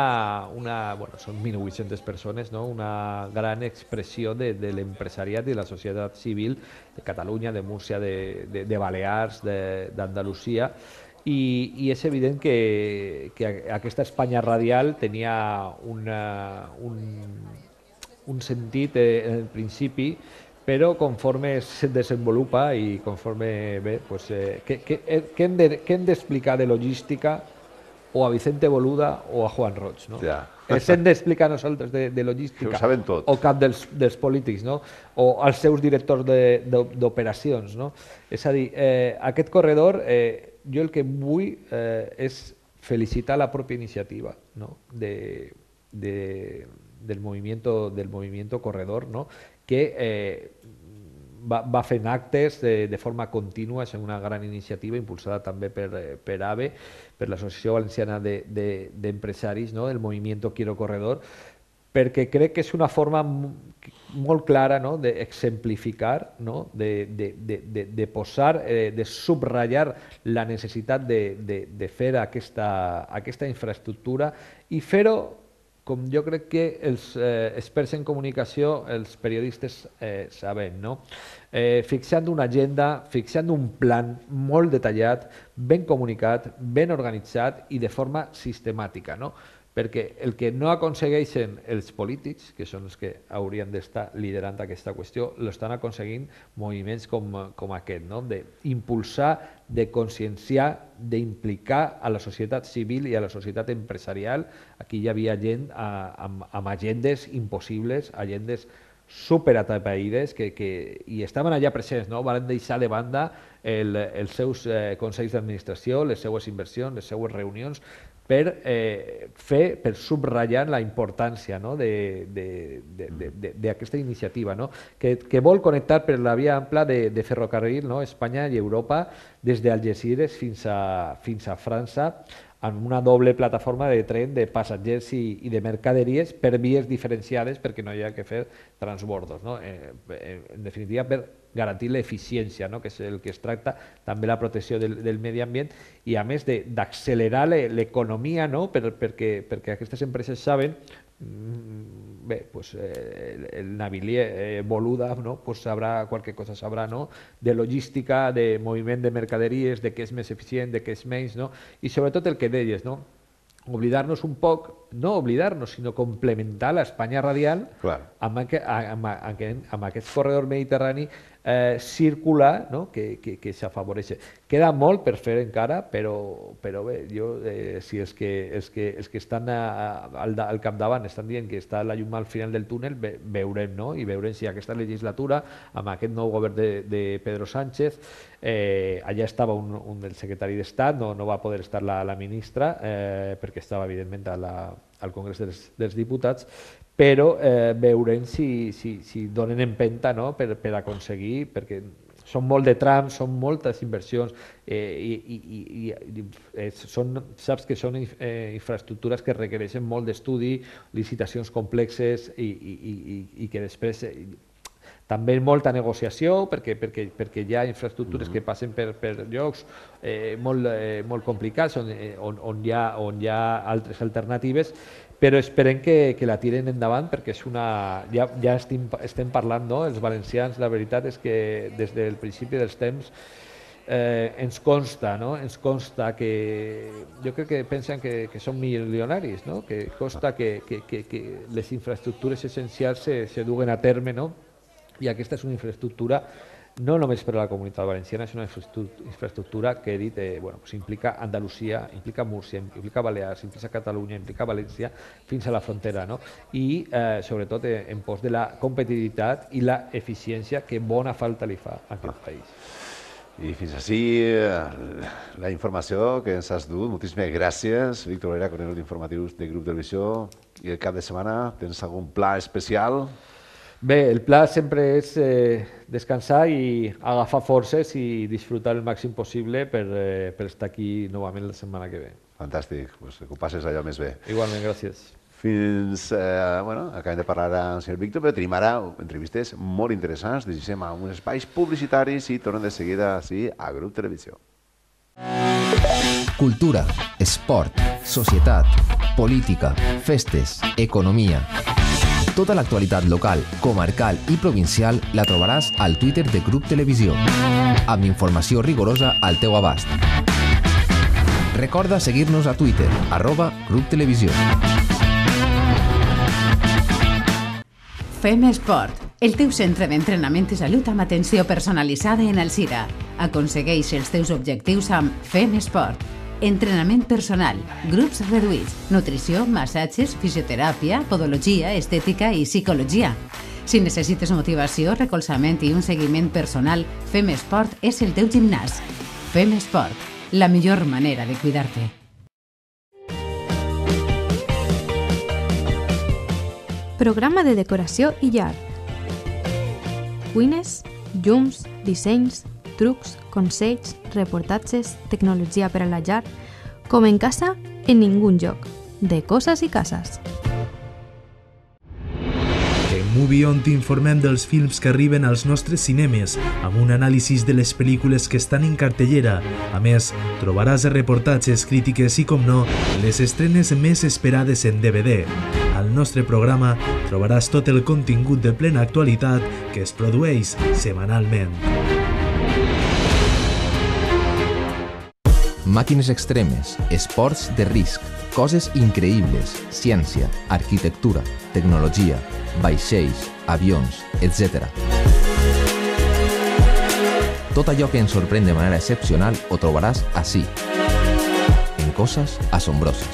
1.800 persones, una gran expressió de l'empresariat i de la societat civil de Catalunya, de Múrcia, de Balears, d'Andalusia, i és evident que aquesta Espanya radial tenia un sentit en el principi, però conforme es desenvolupa i conforme ve, què hem d'explicar de logística o a Vicente Boluda o a Juan Roig? Els hem d'explicar nosaltres de logística o cap dels polítics, o als seus directors d'operacions. És a dir, aquest corredor, jo el que vull és felicitar la pròpia iniciativa del movimiento corredor, que va fent actes de forma contínua. És una gran iniciativa impulsada també per AVE, per l'Associació Valenciana d'Empresaris, del movimiento Quiero Corredor, perquè crec que és una forma molt clara d'exemplificar, de posar, de subratllar la necessitat de fer aquesta infraestructura i fer-ho com jo crec que els experts en comunicació, els periodistes saben, no? Fixant una agenda, fixant un plan molt detallat, ben comunicat, ben organitzat i de forma sistemàtica, no? Perquè el que no aconsegueixen els polítics, que són els que haurien d'estar liderant aquesta qüestió, l'estan aconseguint moviments com aquest, no? D'impulsar, de conscienciar, d'implicar a la societat civil i a la societat empresarial. Aquí hi havia gent amb agendes impossibles, agendes superatapeïdes i estaven allà presents, no? Van deixar de banda els seus consells d'administració, les seues inversions, les seues reunions, per subratllar la importància, no? d'aquesta iniciativa, no? que vol connectar per la via ampla de ferrocarril, no? Espanya i Europa, des d'Algesires fins a França, en una doble plataforma de tren de passatgers i de mercaderies per vies diferenciades perquè no hi ha que fer transbordos, no? En definitiva, per garantir l'eficiència, no? Que és el que es tracta, també la protecció del medi ambient i a més d'accelerar l'economia, no? perquè aquestes empreses saben, bé, pues, el navilier Boluda, no? Pues sabrà, qualque cosa sabrà, no? De logística, de moviment de mercaderies, de què és més eficient, de què és menys, no? I sobretot el que deies, no? Oblidar-nos un poc, no oblidar-nos, sinó complementar l'Espanya radial amb aquest corredor mediterrani circular, no? que s'afavoreix. Queda molt per fer encara, però bé, si els que estan al capdavant estan dient que està la llum al final del túnel, veurem, no? I veurem si aquesta legislatura, amb aquest nou govern de Pedro Sánchez, allà estava un del secretari d'Estat, no va poder estar la ministra, perquè estava evidentment al Congrés dels Diputats, però veurem si donen empenta, no? per aconseguir, perquè són molt de trams, són moltes inversions i saps que són infraestructures que requereixen molt d'estudi, licitacions complexes i que després també molta negociació perquè hi ha infraestructures que passen per llocs molt complicats on hi ha altres alternatives, però esperem que la tiren endavant perquè ja estem parlant, no? Els valencians, la veritat és que des del principi dels temps ens consta, no? Ens consta que jo crec que pensen que són milionaris, no? Que costa que les infraestructures essencials se duguen a terme, no? I aquesta és una infraestructura no només per a la comunitat valenciana, és una infraestructura que he dit, implica Andalusia, implica Múrcia, implica Balears, implica Catalunya, implica València, fins a la frontera, no? I sobretot en pos de la competitivitat i la eficiència que bona falta li fa a aquest país. I fins així la informació que ens has dut. Moltíssimes gràcies, Víctor Valera, conegut d'informatius de Grup Televisió. I el cap de setmana tens algun pla especial? Bé, el pla sempre és descansar i agafar forces i disfrutar el màxim possible per estar aquí novament la setmana que ve. Fantàstic, que ho passes allò més bé. Igualment, gràcies. Fins, acabem de parlar amb el senyor Víctor, però tenim ara entrevistes molt interessants. Deixem a uns espais publicitaris i tornem de seguida així a Grup Televisió. Cultura, esport, societat, política, festes, economia. Tota l'actualitat local, comarcal i provincial la trobaràs al Twitter de Grup Televisió, amb informació rigorosa al teu abast. Recorda seguir-nos a Twitter, @GrupTelevisió. Fem Esport, el teu centre d'entrenament i salut amb atenció personalitzada en Alzira. Aconsegueix els teus objectius amb Fem Esport. Entrenament personal, grups reduïts, nutrició, massatges, fisioteràpia, podologia, estètica i psicologia. Si necessites motivació, recolzament i un seguiment personal, Fem Esport és el teu gimnàs. Fem Esport, la millor manera de cuidar-te. Programa de decoració i llar. Cuines, llums, dissenys, trucs, consells, reportatges, tecnologia per a la llar, com en casa, en ningun lloc. De coses i cases. En Movie On t'informem dels films que arriben als nostres cinemes, amb un anàlisi de les pel·lícules que estan en cartellera. A més, trobaràs reportatges, crítiques i, com no, les estrenes més esperades en DVD. Al Al nostre programa trobaràs tot el contingut de plena actualitat que es produeix setmanalment. Màquines extremes, esports de risc, coses increïbles, ciència, arquitectura, tecnologia, vaixells, avions, etc. Tot allò que ens sorprèn de manera excepcional ho trobaràs ací, en Coses Asombroses.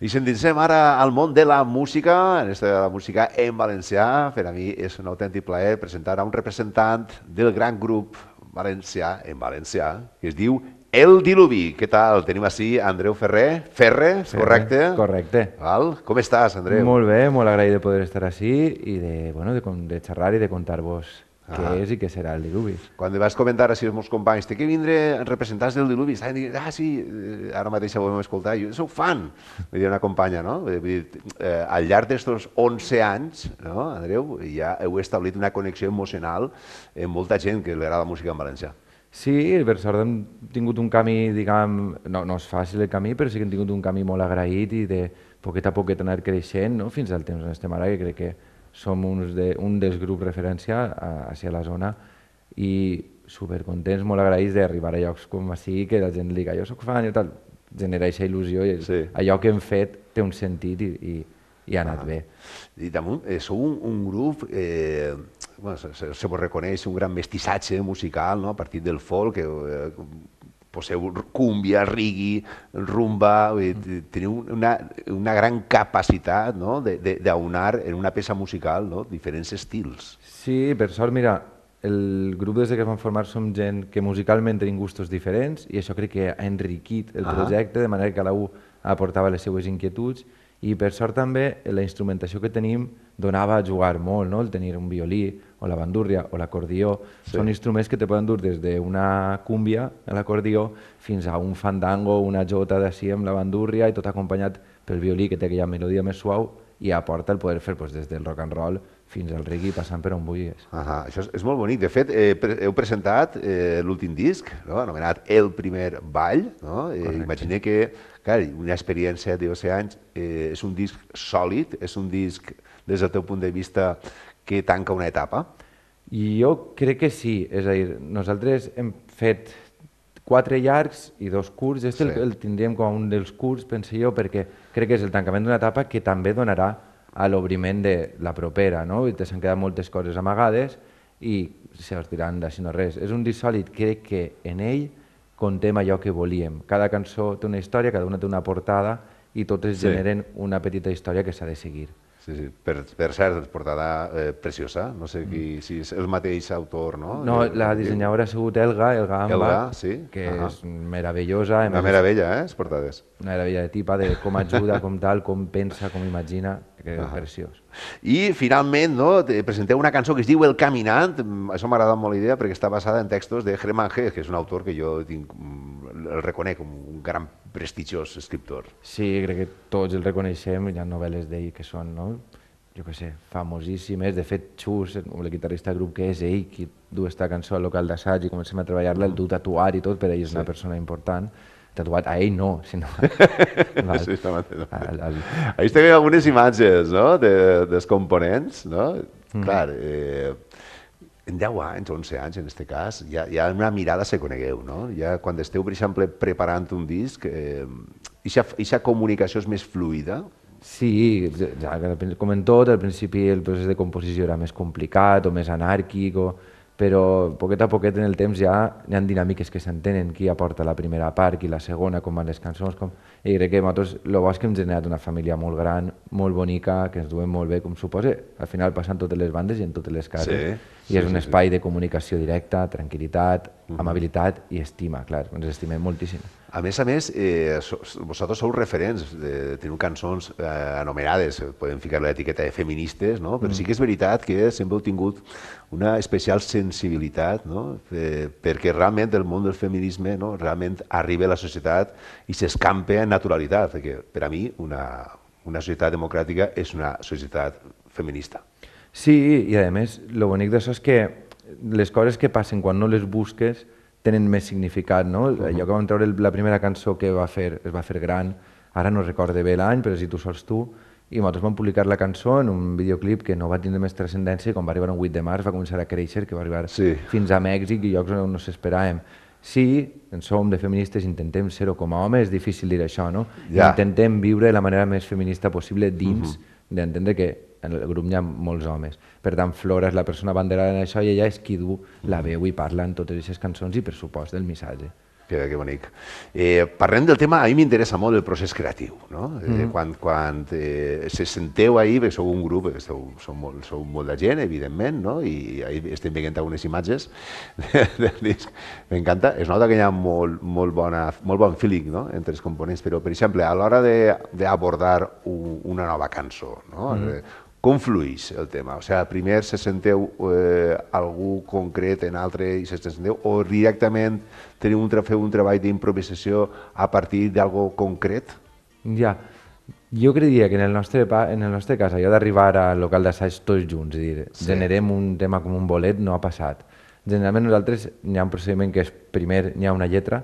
I ens endinsem ara al món de la música, en esta de la música en valencià. Per a mi és un autèntic plaer presentar a un representant del gran grup valencià, en valencià, que es diu El Diluvi. Què tal? Tenim així Andreu Ferrer. Ferre, correcte? Correcte. Val? Com estàs, Andreu? Molt bé, molt agraït de poder estar així i de xerrar i de contar-vos què és i què serà el Diluvi. Quan vas comentar així als meus companys, té que vindre representants del Diluvi, estaven dient, sí, ara mateix ho vam escoltar, jo soc fan, me diu una companya, no? Al llarg d'estos 11 anys, no, Andreu, ja heu establit una connexió emocional amb molta gent que li agrada la música en valencià. Sí, per sort hem tingut un camí, diguem, no és fàcil el camí, però sí que hem tingut un camí molt agraït i de poquet a poquet anar creixent, no? Fins al temps on estem ara, que crec que som un dels grups referència a la zona i supercontents, molt agraïts d'arribar a llocs com així, que la gent diga jo soc fan i tal, genera aquesta il·lusió i allò que hem fet té un sentit i ha anat bé. I damunt, sou un grup, se vos reconeix un gran mestissatge musical, a partir del folk, poseu cúmbia, reggae, rumba, teniu una gran capacitat d'aunar en una peça musical diferents estils. Sí, per sort, mira, el grup des que es van formar som gent que musicalment tenim gustos diferents i això crec que ha enriquit el projecte, de manera que cada un aportava les seues inquietuds i per sort també la instrumentació que tenim donava a jugar molt, no? El tenir un violí o la bandúrria o l'acordió, són instruments que te poden dur des d'una cúmbia a l'acordió fins a un fandango, una jota d'ací amb la bandúrria i tot acompanyat pel violí que té aquella melodia més suau i aporta el poder fer des del rock and roll fins al reggae passant per on vulguis. Això és molt bonic. De fet, heu presentat l'últim disc, anomenat El primer ball. Imagina que una experiència de 11 anys és un disc sòlid, és un disc des del teu punt de vista que tanca una etapa? Jo crec que sí, és a dir, nosaltres hem fet 4 llargs i 2 curts, el tindríem com un dels curts, penso jo, perquè crec que és el tancament d'una etapa que també donarà a l'obriment de la propera, no? I s'han quedat moltes coses amagades i se sortiran d'així no res. És un disc sòlid, crec que en ell contem allò que volíem. Cada cançó té una història, cada una té una portada i totes generen una petita història que s'ha de seguir. Sí, per cert, portada preciosa, no sé si és el mateix autor, no? No, la dissenyadora ha sigut Elga Amba, que és meravellosa. Una meravella, les portades. Una meravella de tipa, de com ajuda, com tal, com pensa, com imagina, que és preciós. I finalment presenteu una cançó que es diu El Caminant, això m'ha agradat molt la idea perquè està basada en textos de Hermann Hesse, que és un autor que jo el reconec com un gran prestigiós escriptor. Sí, crec que tots el reconeixem, hi ha novel·les d'ell que són, jo què sé, famosíssimes. De fet, Xus, el guitarrista del grup, que és ell qui du aquesta cançó al local d'assaig i comencem a treballar-la, el du tatuar i tot, per ell és una persona important. Tatuat a ell no, sinó... Ahí tenim algunes imatges dels components, no? Clar, en 10 anys, 11 anys en aquest cas, ja una mirada se conegueu, no? Ja quan esteu, per exemple, preparant un disc, aquesta comunicació és més fluida? Sí, com en tot, al principi el procés de composició era més complicat o més anàrquic, però poquet a poquet en el temps ja hi ha dinàmiques que s'entenen, qui aporta la primera part, qui la segona, com van les cançons, i crec que nosaltres el bo és que hem generat una família molt gran, molt bonica, que ens duem molt bé, com suposa, al final passant totes les bandes i en totes les cases, i és un espai de comunicació directa, tranquil·litat, amabilitat i estima, clar, ens estimem moltíssim. A més, vosaltres sou referents, teniu cançons anomenades, podem ficar l'etiqueta de feministes, però sí que és veritat que sempre heu tingut una especial sensibilitat, perquè realment el món del feminisme realment arriba a la societat i s'escampa en naturalitat, perquè per a mi una societat democràtica és una societat feminista. Sí, i a més, el bonic d'això és que les coses que passen quan no les busques tenen més significat, no? Allò que vam treure la primera cançó que es va fer gran, ara no recorde bé l'any, però si tu sols tu, i nosaltres vam publicar la cançó en un videoclip que no va tindre més transcendència i quan va arribar un 8 de març va començar a créixer, que va arribar fins a Mèxic i llocs on no s'esperàvem. Sí, en som de feministes, intentem ser-ho com a home, és difícil dir això, no? Intentem viure de la manera més feminista possible dins d'entendre que en el grup hi ha molts homes. Per tant, Flora és la persona abanderada en això i ella és qui du la veu i parla en totes aquestes cançons i, per supost, del missatge. Que bonic. Parlem del tema, a mi m'interessa molt el procés creatiu, no? Quan se senteu ahir, perquè sou un grup, sou molt de gent, evidentment, no? I ahir estem veient algunes imatges del disc. M'encanta, es nota que hi ha molt bon feeling, no? Entre els components, però, per exemple, a l'hora d'abordar una nova cançó, no? Com fluix el tema? O sigui, primer se senteu algú concret en altre i se senteu, o directament teniu feu un treball d'improvisació a partir d'algo concret? Ja, jo creia que en el nostre cas, allò d'arribar al local d'assaig tots junts i dir, generem un tema com un bolet, no ha passat. Generalment nosaltres hi ha un procediment que és, primer hi ha una lletra,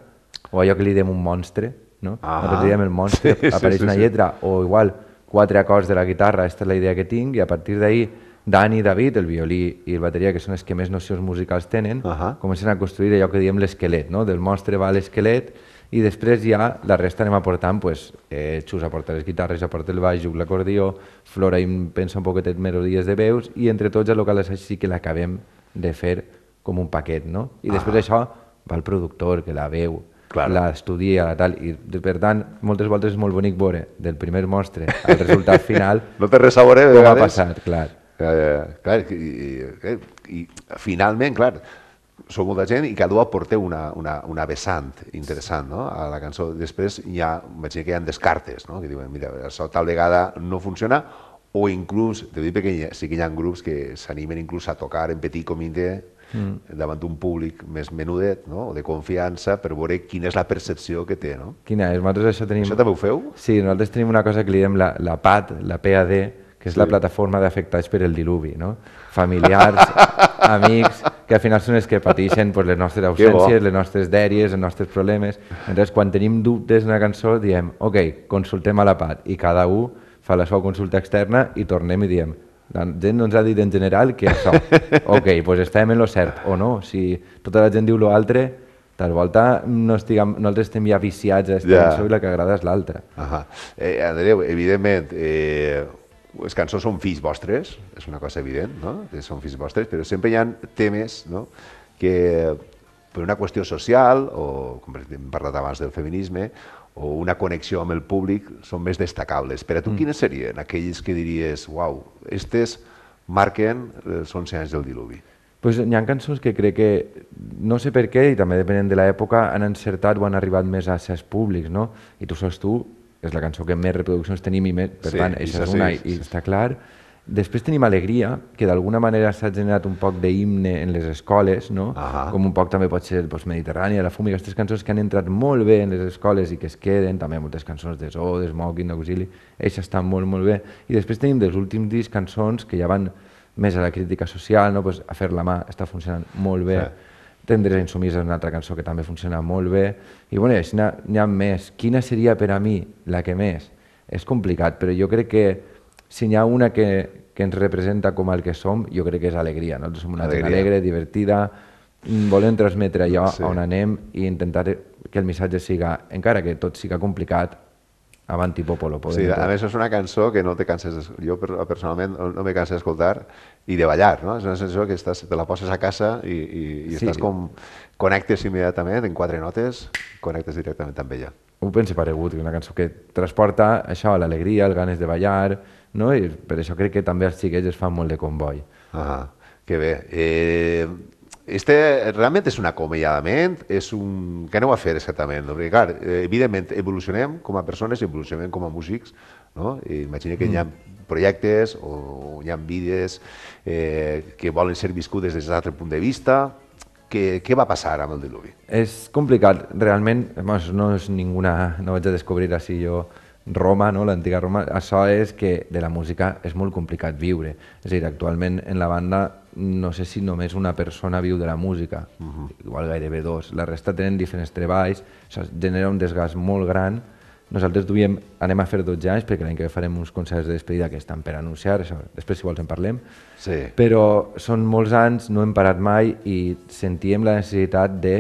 o allò que li diem un monstre, no? Nosaltres diem el monstre, apareix una lletra, o igual 4 acords de la guitarra, aquesta és la idea que tinc, i a partir d'ahir Dani i David, el violí i el bateria, que són els que més nocions musicals tenen, comencen a construir allò que diem l'esquelet, no? Del monstre va l'esquelet, i després ja la resta anem aportant, Xus aporta les guitarres, aporta el baix, juc l'acordió, Flora pensa un poquetet melodies de veus, i entre tots el local d'assaig sí que l'acabem de fer com un paquet, no? I després això va el productor, que la veu, l'estudia, i per tant, moltes voltes és molt bonic veure del primer monstre al resultat final no té res a veure, com ha passat, clar. I finalment, clar, sou molta gent i cada un aporteu una vessant interessant, no? A la cançó. Després vaig dir que hi ha descartes, no? Que diuen, mira, això tal vegada no funciona, o inclús, te dic perquè sí que hi ha grups que s'animen inclús a tocar en petit comitè davant d'un públic més menudet, o de confiança, per veure quina és la percepció que té. Quina és? Nosaltres això tenim... Això també ho feu? Sí, nosaltres tenim una cosa que li diem la PAD, la PAD, que és la plataforma d'afectats per el diluvi, familiars, amics, que al final són els que pateixen les nostres ausències, les nostres dèries, els nostres problemes. Llavors, quan tenim dubtes en una cançó, diem, ok, consultem a la PAD, i cada un fa la seva consulta externa i tornem i diem, la gent no ens ha dit en general que això, ok, doncs estem en lo cert, o no, si tota la gent diu l'altre, tal volta nosaltres estem ja viciats a aquesta cançó i la que agrada és l'altra. Andreu, evidentment, les cançons són fills vostres, és una cosa evident, que són fills vostres, però sempre hi ha temes que per una qüestió social, o com hem parlat abans del feminisme, o una connexió amb el públic, són més destacables. Per a tu, quines serien aquells que diries, uau, estes marquen els 11 anys del diluvi? Hi ha cançons que crec que, no sé per què, i també depenent de l'època, han encertat o han arribat més a certs públics, no? I Tu sols tu és la cançó que més reproduccions tenim i més, per tant, això és una, i està clar. Després tenim Alegria, que d'alguna manera s'ha generat un poc d'himne en les escoles, com un poc també pot ser Mediterrània, La Fum, i aquestes cançons que han entrat molt bé en les escoles i que es queden, també moltes cançons de Zoo, de Smoking, d'Auxili, elles estan molt, molt bé. I després tenim dels últims discs cançons que ja van més a la crítica social, A fer la mà està funcionant molt bé, Tendres insumís és una altra cançó que també funciona molt bé, i bueno, així n'hi ha més. Quina seria per a mi la que més? És complicat, però jo crec que si n'hi ha una que ens representa com el que som, jo crec que és Alegria. Nosaltres som una gent alegre, divertida, volem transmetre allò on anem i intentar que el missatge siga, encara que tot siga complicat, avanti popolo. Sí, a més és una cançó que no te canses, jo personalment no me canso d'escoltar i de ballar, no? És una cançó que te la poses a casa i estàs com, connectes immediatament, en 4 notes, connectes directament amb ella. Ho penso paregut, una cançó que transporta això, l'alegria, el ganes de ballar, i per això crec que també els xiquets es fan molt de comboi. Que bé. Realment és un acomiadament, què aneu a fer exactament? Perquè, clar, evidentment, evolucionem com a persones, evolucionem com a músics, imagina que hi ha projectes o hi ha vides que volen ser viscudes des d'un altre punt de vista. Què va passar amb el diluvi? És complicat, realment, no és ninguna, no vaig a descobrir així jo Roma, no? L'antiga Roma, això és que de la música és molt complicat viure. És a dir, actualment en la banda no sé si només una persona viu de la música, igual gairebé dos. La resta tenen diferents treballs, això genera un desgast molt gran. Nosaltres anem a fer 12 anys perquè l'any que ve farem uns concerts de despedida que estan per anunciar, això, després si vols en parlem. Sí. Però són molts anys, no hem parat mai i sentíem la necessitat de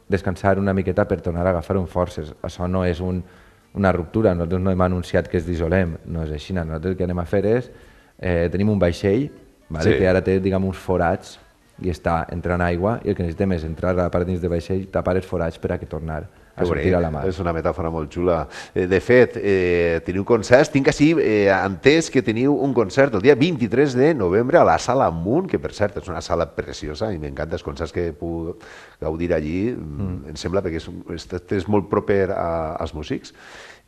descansar una miqueta per tornar a agafar forces. Això no és una ruptura, nosaltres no hem anunciat que es dissolem, no és així. Nosaltres el que anem a fer és, tenim un vaixell, vale, que ara té uns forats i està entrant aigua i el que necessitem és entrar a la part dins del vaixell, tapar els forats per a que tornar a sortir a la mar. És una metàfora molt xula. De fet, teniu concerts, tinc així entès que teniu un concert el dia 23 de novembre a la Sala Munt, que per cert és una sala preciosa i m'encanta els concerts que puc gaudir allí, em sembla, perquè és molt proper als músics.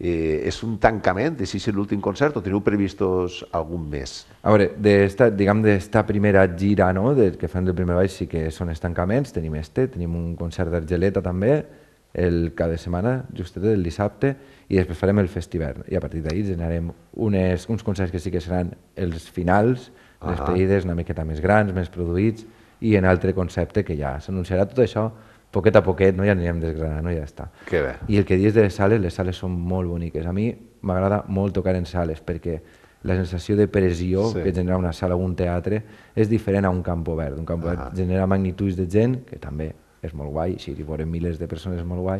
És un tancament, si és l'últim concert o teniu previstos algun més? A veure, d'esta primera gira que fem del primer baix sí que són els tancaments, tenim un concert d'Argeleta també, el cap de setmana, justet el dissabte, i després farem el Festivern. I a partir d'ahir generarem uns concerts que sí que seran els finals, les despedides una miqueta més grans, més produïts, i en altre concepte que ja s'anunciarà tot això, poquet a poquet, ja anirem desgranant, ja està. Que bé. I el que dius de les sales són molt boniques. A mi m'agrada molt tocar en sales, perquè la sensació de pressió que genera una sala o un teatre és diferent a un camp obert. Un camp obert genera magnituds de gent, que també és molt guai, si hi veurem milers de persones és molt guai,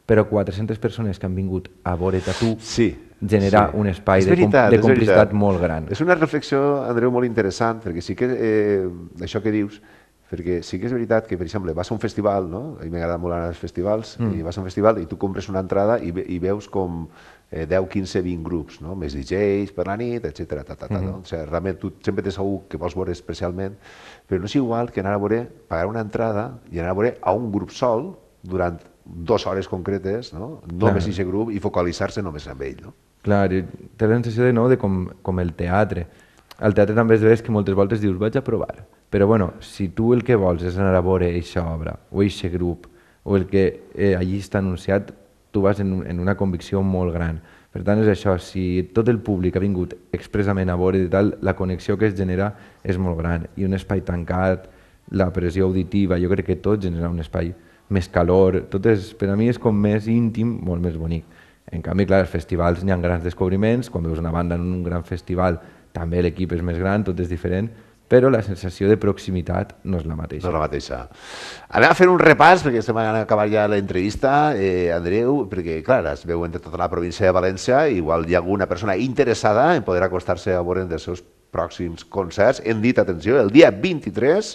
però 400 persones que han vingut a veure't a tu genera un espai de complicitat molt gran. És una reflexió, Andreu, molt interessant, perquè sí que això que dius, perquè sí que és veritat que, per exemple, vas a un festival, no? A mi m'agrada molt anar als festivals, i vas a un festival i tu compres una entrada i veus com 10, 15, 20 grups, més DJs per la nit, etc. Realment tu sempre tens algú que vols veure especialment, però no és igual que anar a veure, pagar una entrada i anar a veure a un grup sol durant 2 hores concretes, només aquest grup, i focalitzar-se només en ell. Clar, té la sensació de com el teatre. Al teatre també es veu que moltes voltes dius vaig a provar, però si tu el que vols és anar a veure aquesta obra o aquest grup o el que allí està anunciat, tu vas en una convicció molt gran. Per tant, és això, si tot el públic ha vingut expressament a veure i tal, la connexió que es genera és molt gran. I un espai tancat, la pressió auditiva, jo crec que tot genera un espai més calor, per a mi és com més íntim, molt més bonic. En canvi, clar, als festivals n'hi ha grans descobriments, quan veus una banda en un gran festival també l'equip és més gran, tot és diferent, però la sensació de proximitat no és la mateixa. No és la mateixa. Anem a fer un repàs, perquè estem acabant ja l'entrevista, Andreu, perquè, clar, es veu entre tota la província de València, igual hi ha alguna persona interessada en poder acostar-se a veure dels seus pròxims concerts. Hem dit, atenció, el dia 23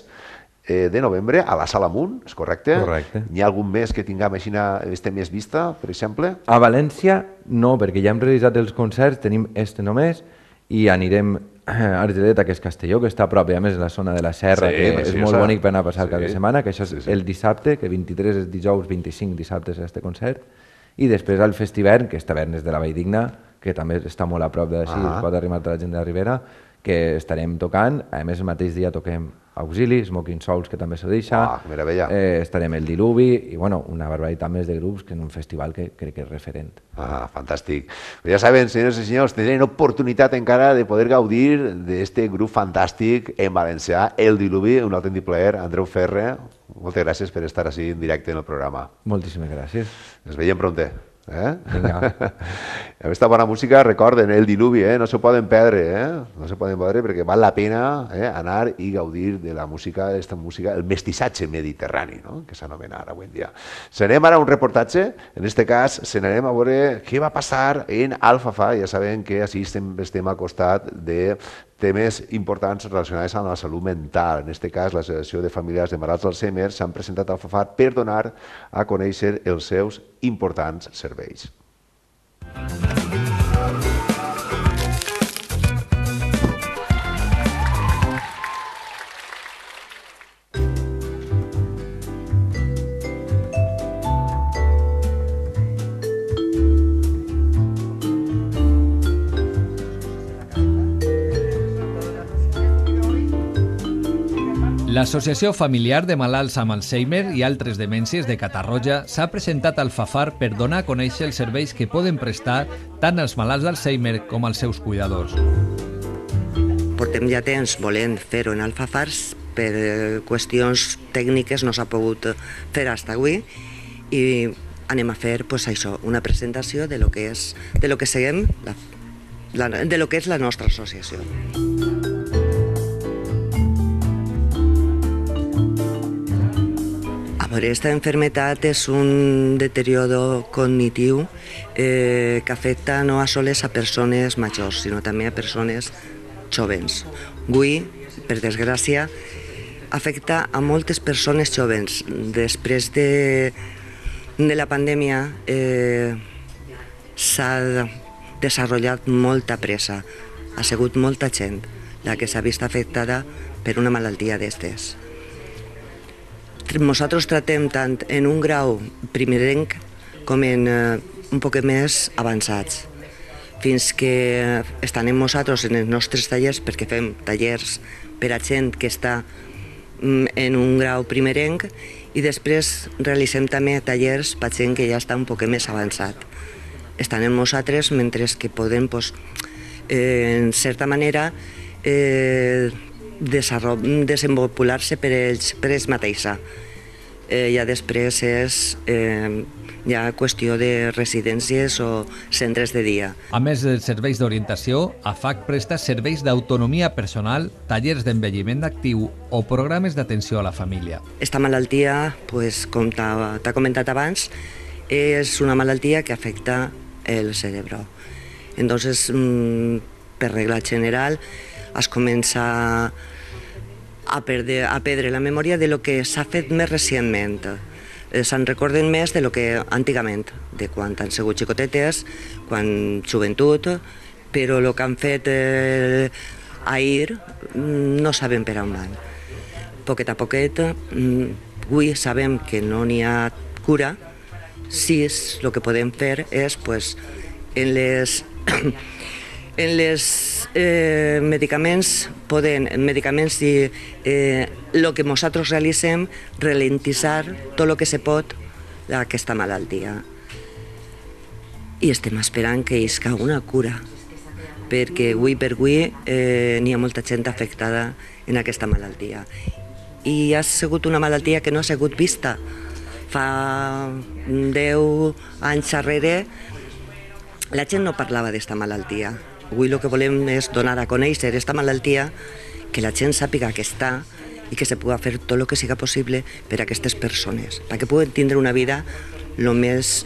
de novembre a la Sala Munt, és correcte? Correcte. N'hi ha algun més que tinguem així més vista, per exemple? A València no, perquè ja hem realitzat els concerts, tenim només, i anirem a Argeleta, que és Castelló, que està a prop, i a més la zona de la Serra, que és molt bonic per anar a passar el cap de setmana, que això és el dissabte, que 23 és dijous, 25 dissabte és aquest concert, i després al Festivern, que és Tavernes de la Valldigna, que també està molt a prop d'ací, es pot arribar a la gent de la Ribera, que estarem tocant, a més el mateix dia toquem Auxili, Smoking Souls, que també s'ho deixa, estarem el Diluvi, i una barbaritat més de grups que en un festival que crec que és referent. Fantàstic. Ja saben, senyors i senyors, tenen oportunitat encara de poder gaudir d'aquest grup fantàstic en valencià, el Diluvi, un autèntic plaer. Andreu Ferre, moltes gràcies per estar així en directe en el programa. Moltíssimes gràcies. Ens veiem pronte. Vinga. Aquesta bona música, recorden, el Diluvi, no se poden perdre, no se poden perdre perquè val la pena anar i gaudir de la música, aquesta música, el mestissatge mediterrani, que s'anomena ara avui en dia. S'anem ara a un reportatge, en aquest cas s'anarem a veure què va passar en Alfafar. Ja sabem que així estem al costat de temes importants relacionats amb la salut mental. En aquest cas, l'Associació de Familiars de Malalts d'Alzheimer s'han presentat al Alfafar per donar a conèixer els seus importants serveis. L'Associació Familiar de Malalts amb Alzheimer i altres demències de Catarroja s'ha presentat al Fafar per donar a conèixer els serveis que poden prestar tant als malalts d'Alzheimer com als seus cuidadors. Portem ja temps volent fer-ho en el Fafar, per qüestions tècniques no s'ha pogut fer fins avui i anem a fer això, una presentació de lo que és la nostra associació. Esta enfermedad es un deterioro cognitivo que afecta no a soles a persones majors, sinó també a persones jovens. Avui, per desgràcia, afecta a moltes persones jovens. Després de la pandèmia s'ha desenvolupat molta pressa. Ha sigut molta gent la que s'ha vist afectada per una malaltia d'estes. Nosaltres tratem tant en un grau primerenc com en un poc més avançats, fins que estem nosaltres en els nostres tallers, perquè fem tallers per a gent que està en un grau primerenc i després realitzem també tallers per a gent que ja està un poc més avançat. Estan en nosaltres mentre que podem, en certa manera, desenvolupar-se per ells mateixa. Ja després és ja qüestió de residències o centres de dia. A més dels serveis d'orientació, AFAC presta serveis d'autonomia personal, tallers d'envelliment actiu o programes d'atenció a la família. Esta malaltia, com t'ha comentat abans, és una malaltia que afecta el cerebro. Entonces, per regla general, es comença a perdre la memòria de lo que s'ha fet més recentment. Se'n recorden més de lo que antigament, de quan han sigut xicotetes, quan joventut, però el que han fet ahir no sabem per on van. Poquet a poquet, avui sabem que no n'hi ha cura, sí, el que podem fer és, en les medicaments i el que nosaltres realitzem, ralentitzar tot el que se pot d'aquesta malaltia. I estem esperant que isca una cura, perquè avui per avui n'hi ha molta gent afectada en aquesta malaltia. I ha sigut una malaltia que no ha sigut vista. Fa 10 anys darrere la gent no parlava d'esta malaltia. Avui el que volem és donar a conèixer aquesta malaltia, que la gent sàpiga que està i que se pugui fer tot el que siga possible per a aquestes persones, perquè puguen tindre una vida el més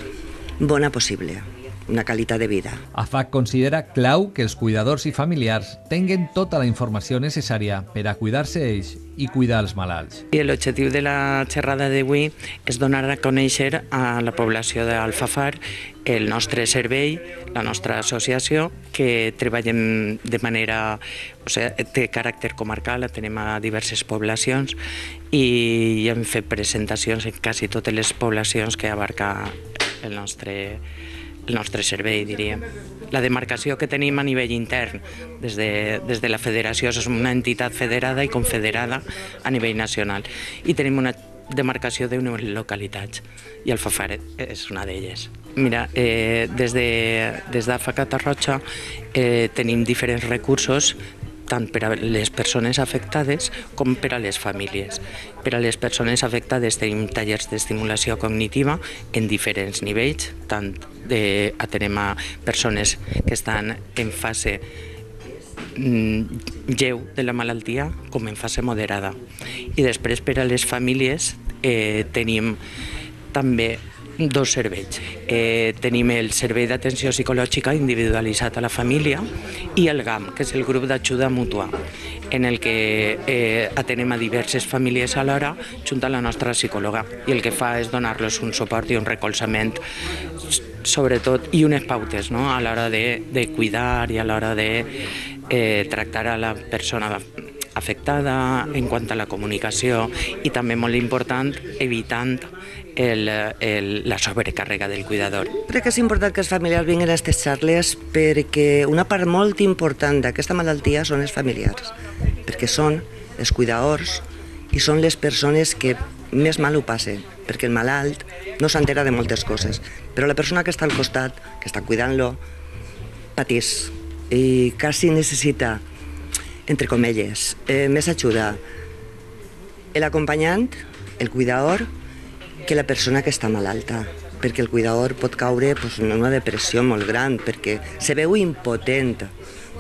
bona possible, una qualitat de vida. AFAC considera clau que els cuidadors i familiars tinguen tota la informació necessària per a cuidar-se ells i cuidar els malalts. L'objectiu de la xerrada d'avui és donar a conèixer a la població d'Alfafar el nostre servei, la nostra associació, que treballem de manera, té caràcter comarcal, atenem a diverses poblacions i hem fet presentacions en quasi totes les poblacions que abarca el nostre servei, diríem. La demarcació que tenim a nivell intern des de la federació és una entitat federada i confederada a nivell nacional i tenim una demarcació d'unes localitats i Alfafar és una d'elles. Mira, des d'AFAC Catarroja tenim diferents recursos tant per a les persones afectades com per a les famílies. Per a les persones afectades tenim tallers d'estimulació cognitiva en diferents nivells, tant atenem a persones que estan en fase lleu de la malaltia com en fase moderada. I després per a les famílies tenim també dos serveis. Tenim el servei d'atenció psicològica individualitzat a la família i el GAM, que és el grup d'ajuda mútua, en el que atenem a diverses famílies alhora junt a la nostra psicòloga i el que fa és donar-los un suport i un recolzament sobretot i unes pautes a l'hora de cuidar i a l'hora de tractar a la persona afectada en quant a la comunicació i també molt important evitant la sobrecàrrega del cuidador. Crec que és important que els familiars vinguin a aquestes xarles perquè una part molt important d'aquesta malaltia són els familiars, perquè són els cuidadors i són les persones que més mal ho passen, perquè el malalt no s'entera de moltes coses, però la persona que està al costat, que està cuidant-lo, patís i quasi necessita, entre comillas, més ajuda el acompanyant, el cuidador, que la persona que està malalta, perquè el cuidador pot caure en una depressió molt gran, perquè se veu impotent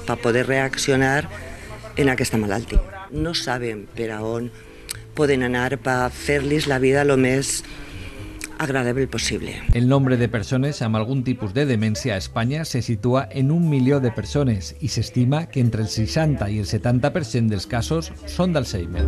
per poder reaccionar en aquesta malaltia. No saben per a on poden anar per fer-los la vida el més agradable possible. El nombre de persones amb algun tipus de demència a Espanya se situa en 1 milió de persones i s'estima que entre el 60 i el 70% dels casos són d'Alzheimer.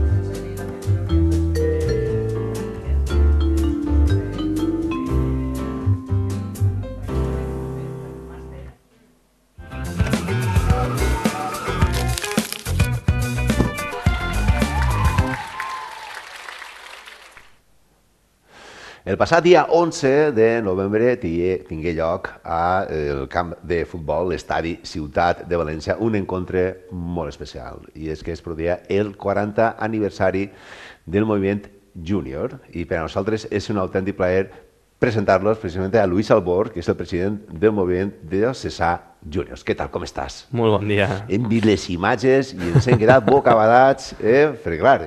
El passat dia 11 de novembre tingué lloc al camp de futbol, l'estadi Ciutat de València, un encontre molt especial. I és que es produïa el 40 aniversari del moviment júnior. I per a nosaltres és un autèntic plaer presentar-los precisament a Luis Albor, que és el president del moviment de Cesar Juniors. Què tal, com estàs? Molt bon dia. Hem vist les imatges i ens hem quedat bocabadats, perquè clar,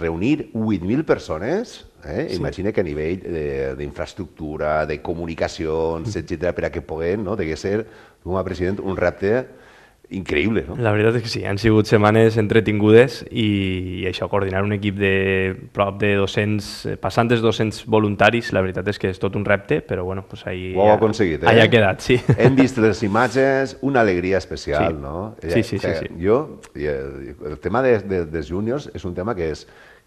reunir 8.000 persones... Sí. Imagina que a nivell d'infraestructura, de comunicacions, etc., per a que puguem, degué ser, com a president, un repte increïble. No? La veritat és que sí, han sigut setmanes entretingudes i això, coordinar un equip de prop de 200, passant dels 200 voluntaris, la veritat és que és tot un repte, però bueno, pues ahí ho heu aconseguit, ha quedat, sí. Hem vist les imatges, una alegria especial, sí. No? Sí. El tema dels júniors és un tema que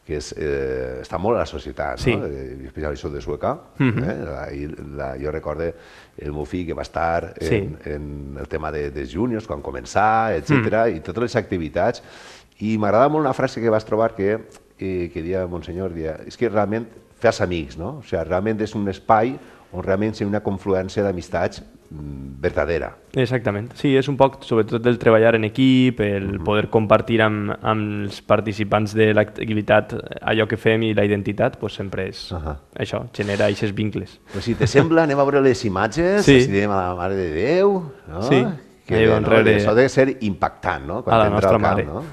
està molt a la societat, sí. No? Especialment això de Sueca. Jo recordo el meu fill que va estar en el tema dels júniors quan començà, etc. I totes les activitats. I m'agrada molt una frase que vas trobar que deia Monsenyor, és que realment fas amics, no? O sigui, realment és un espai on realment hi ha una confluència d'amistats verdadera. Exactament. Sí, és un poc, sobretot, el treballar en equip, el poder compartir amb els participants de l'activitat allò que fem i la identitat, doncs sempre és això, genera aquests vincles. Pues si te sembla, anem a veure les imatges, si diem a la Mare de Déu, no? Sí. Que bé, no? Això ha de ser impactant, no? A la nostra mare. No?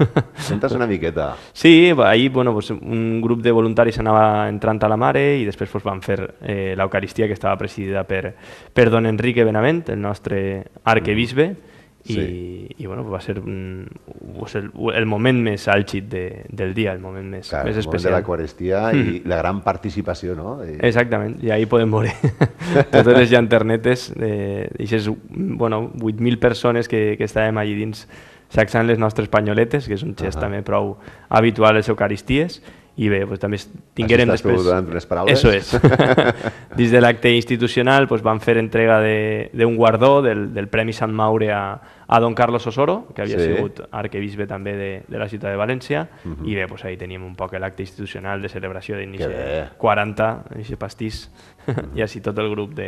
Sentes una miqueta. Sí, ahir un grup de voluntaris anava entrant a la mare i després van fer l'Eucaristia, que estava presidida per don Enrique Benavent, el nostre arquebisbe, i va ser el moment més àlgid del dia, el moment més especial. El moment de l'Eucaristia i la gran participació, no? Exactament, i ahir podem veure totes les llanternetes d'aixes 8.000 persones que estàvem allà dins sacsant les nostres panyoletes, que és un gest també prou habitual a les Eucaristies. I bé, també tinguérem després... Estàs donant unes paraules? Eso és. Dins de l'acte institucional van fer entrega d'un guardó del Premi Sant Maure a don Carlos Osoro, que havia sigut arquebisbe també de la ciutat de València, i bé, ahí teníem un poc l'acte institucional de celebració d'inici 40, aquest pastís, i així tot el grup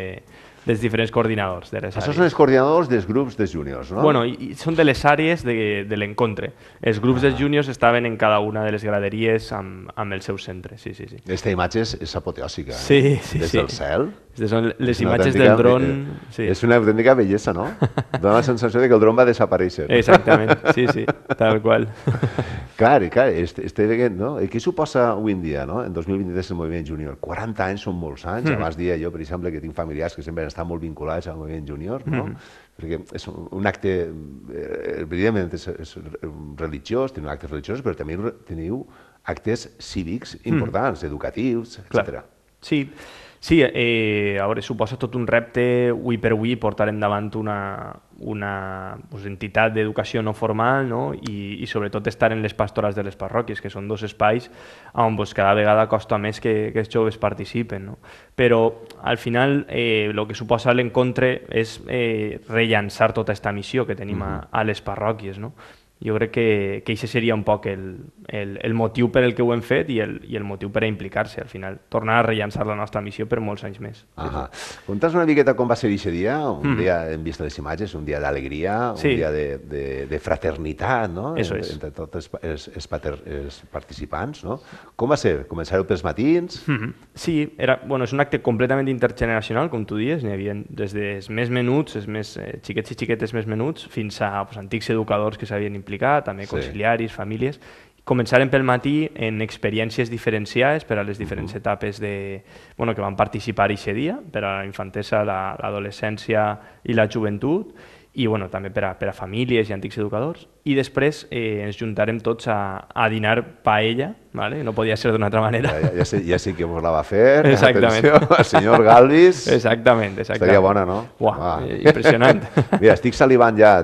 dels diferents coordinadors de les àrees. Això són els coordinadors dels grups de júniors, no? Bueno, són de les àrees de l'encontre. Els grups dels júniors estaven en cada una de les graderies amb el seu centre, sí. Aquesta imatge és apoteòsica, sí. Des del cel. Són les imatges del dron... És una autèntica bellesa, no? Dóna la sensació que el dron va desaparèixer. Exactament, sí, tal qual. Clar, estic veient, no? Què suposa avui en dia, no? En 2023 el moviment júnior. 40 anys són molts anys. Abans dia jo, per exemple, que tinc familiars que sempre estan molt vinculats al moviment júnior, no? Perquè és un acte, evidentment és religiós, teniu actes religiosos, però també teniu actes cívics importants, educatius, etc. Sí, a veure, suposa tot un repte avui per avui portar endavant una entitat d'educació no formal, no? I sobretot estar en les pastorals de les parròquies, que són dos espais on cada vegada costa més que els joves participen. No? Però al final el que suposa l'encontre és rellançar tota aquesta missió que tenim a les parròquies. No? Jo crec que això seria un poc el motiu per el que ho hem fet i el motiu per a implicar-se, al final. Tornar a rellançar la nostra missió per molts anys més. Conta'ns una miqueta com va ser aquest dia. Un dia, hem vist les imatges, un dia d'alegria, un dia de fraternitat, no? Entre tots els participants, no? Com va ser? Començareu pels matins? Sí, és un acte completament intergeneracional, com tu dius. N'hi havia des dels més menuts, els més xiquets i xiquetes més menuts, fins a antics educadors que s'havien implicat, també conciliaris, famílies. Començarem pel matí en experiències diferenciades per a les diferents etapes que van participar aquest dia, per a la infantesa, l'adolescència i la joventut, i també per a famílies i antics educadors. I després ens juntarem tots a dinar paella, no podia ser d'una altra manera. Ja sé que vos la va fer. Exactament. Atenció, el senyor Galvis. Exactament. Estaria bona, no? Impressionant. Mira, estic salivant ja.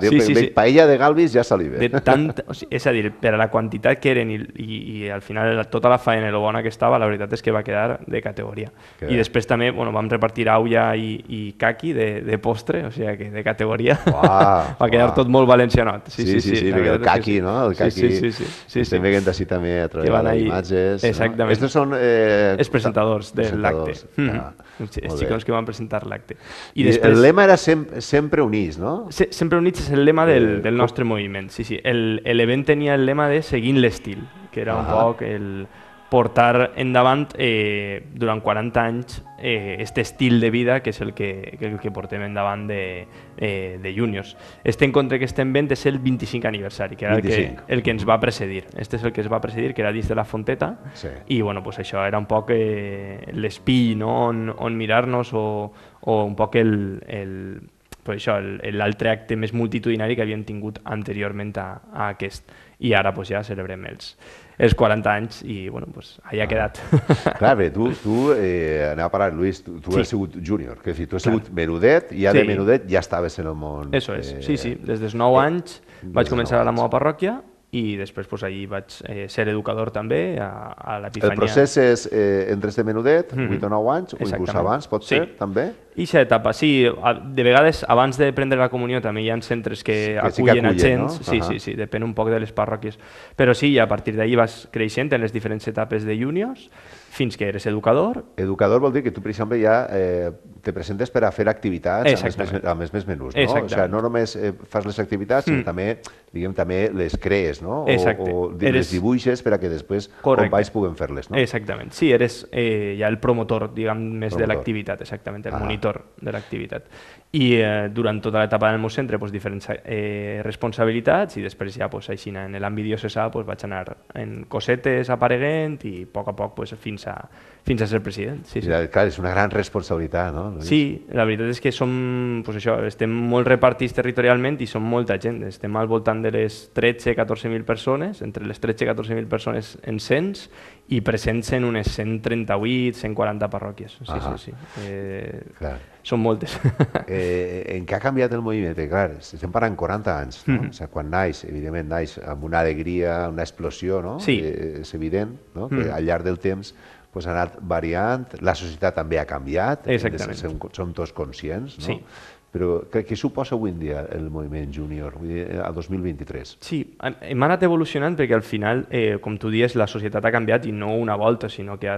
Paella de Galvis ja salive. És a dir, per a la quantitat que eren i al final tota la faena i lo bona que estava, la veritat és que va quedar de categoria. I després també vam repartir aulla i caqui de postre, o sigui que de categoria. Va quedar tot molt valencianot. Sí, el caqui, no? El caqui. Estem veient així també a través de les imatges. Exactament. Estos són els presentadors de l'acte. Els xicons que van presentar l'acte. I el lema era sempre units, no? Sempre units és el lema del nostre moviment. Sí. L'event tenia el lema de seguint l'estil, que era un poc el portar endavant durant 40 anys aquest estil de vida que és el que portem endavant de Juniors. Este encontre que estem fent és el 25 aniversari, que era el que ens va precedir. Este és el que es va precedir, que era dins de la Fonteta, i això era un poc l'espill on mirar-nos o un poc l'altre acte més multitudinari que havíem tingut anteriorment a aquest. I ara ja celebrem els 40 anys i allà ha quedat. Clar, bé, tu anem a parlar, Lluís, tu has sigut júnior, que tu has sigut menudet i ja de menudet ja estaves en el món. Eso és, sí, des dels 9 anys vaig començar a la meva parròquia i després allí vaig ser educador també a l'Epifania. El procés és entres de menudet, 8 o 9 anys, o inclús abans, pot ser, també? I aquesta etapa, sí. De vegades, abans de prendre la comunió, també hi ha centres que acullen a gent. Sí, depèn un poc de les parròquies. Però sí, a partir d'ahir vas creixent en les diferents etapes de juniors, fins que eres educador. Educador vol dir que tu, per exemple, ja te presentes per a fer activitats amb els més menús, no? O sigui, no només fas les activitats, sinó també les crees, no? O les dibuixes per a que després companys puguen fer-les, no? Exactament. Sí, eres ja el promotor, diguem, més de l'activitat, exactament, el monitor de l'activitat. I durant tota l'etapa del meu centre diferents responsabilitats i després ja així en l'àmbit diocesà vaig anar en cosetes apareguent i a poc fins a ser president. Clar, és una gran responsabilitat, no? Sí, la veritat és que estem molt repartits territorialment i som molta gent. Estem al voltant de les 13-14.000 persones, entre les 13-14.000 persones en cens i presents en unes 138-140 parròquies. Sí. Són moltes. En què ha canviat el moviment? Clar, estem parlant 40 anys, no? O sigui, quan naix, evidentment, naix amb una alegria, una explosió, no? És evident que al llarg del temps ha anat variant, la societat també ha canviat, som tots conscients, no? Però què suposa avui en dia el moviment júnior, al 2023? Sí, hem anat evolucionant perquè al final, com tu dius, la societat ha canviat i no una volta, sinó que ha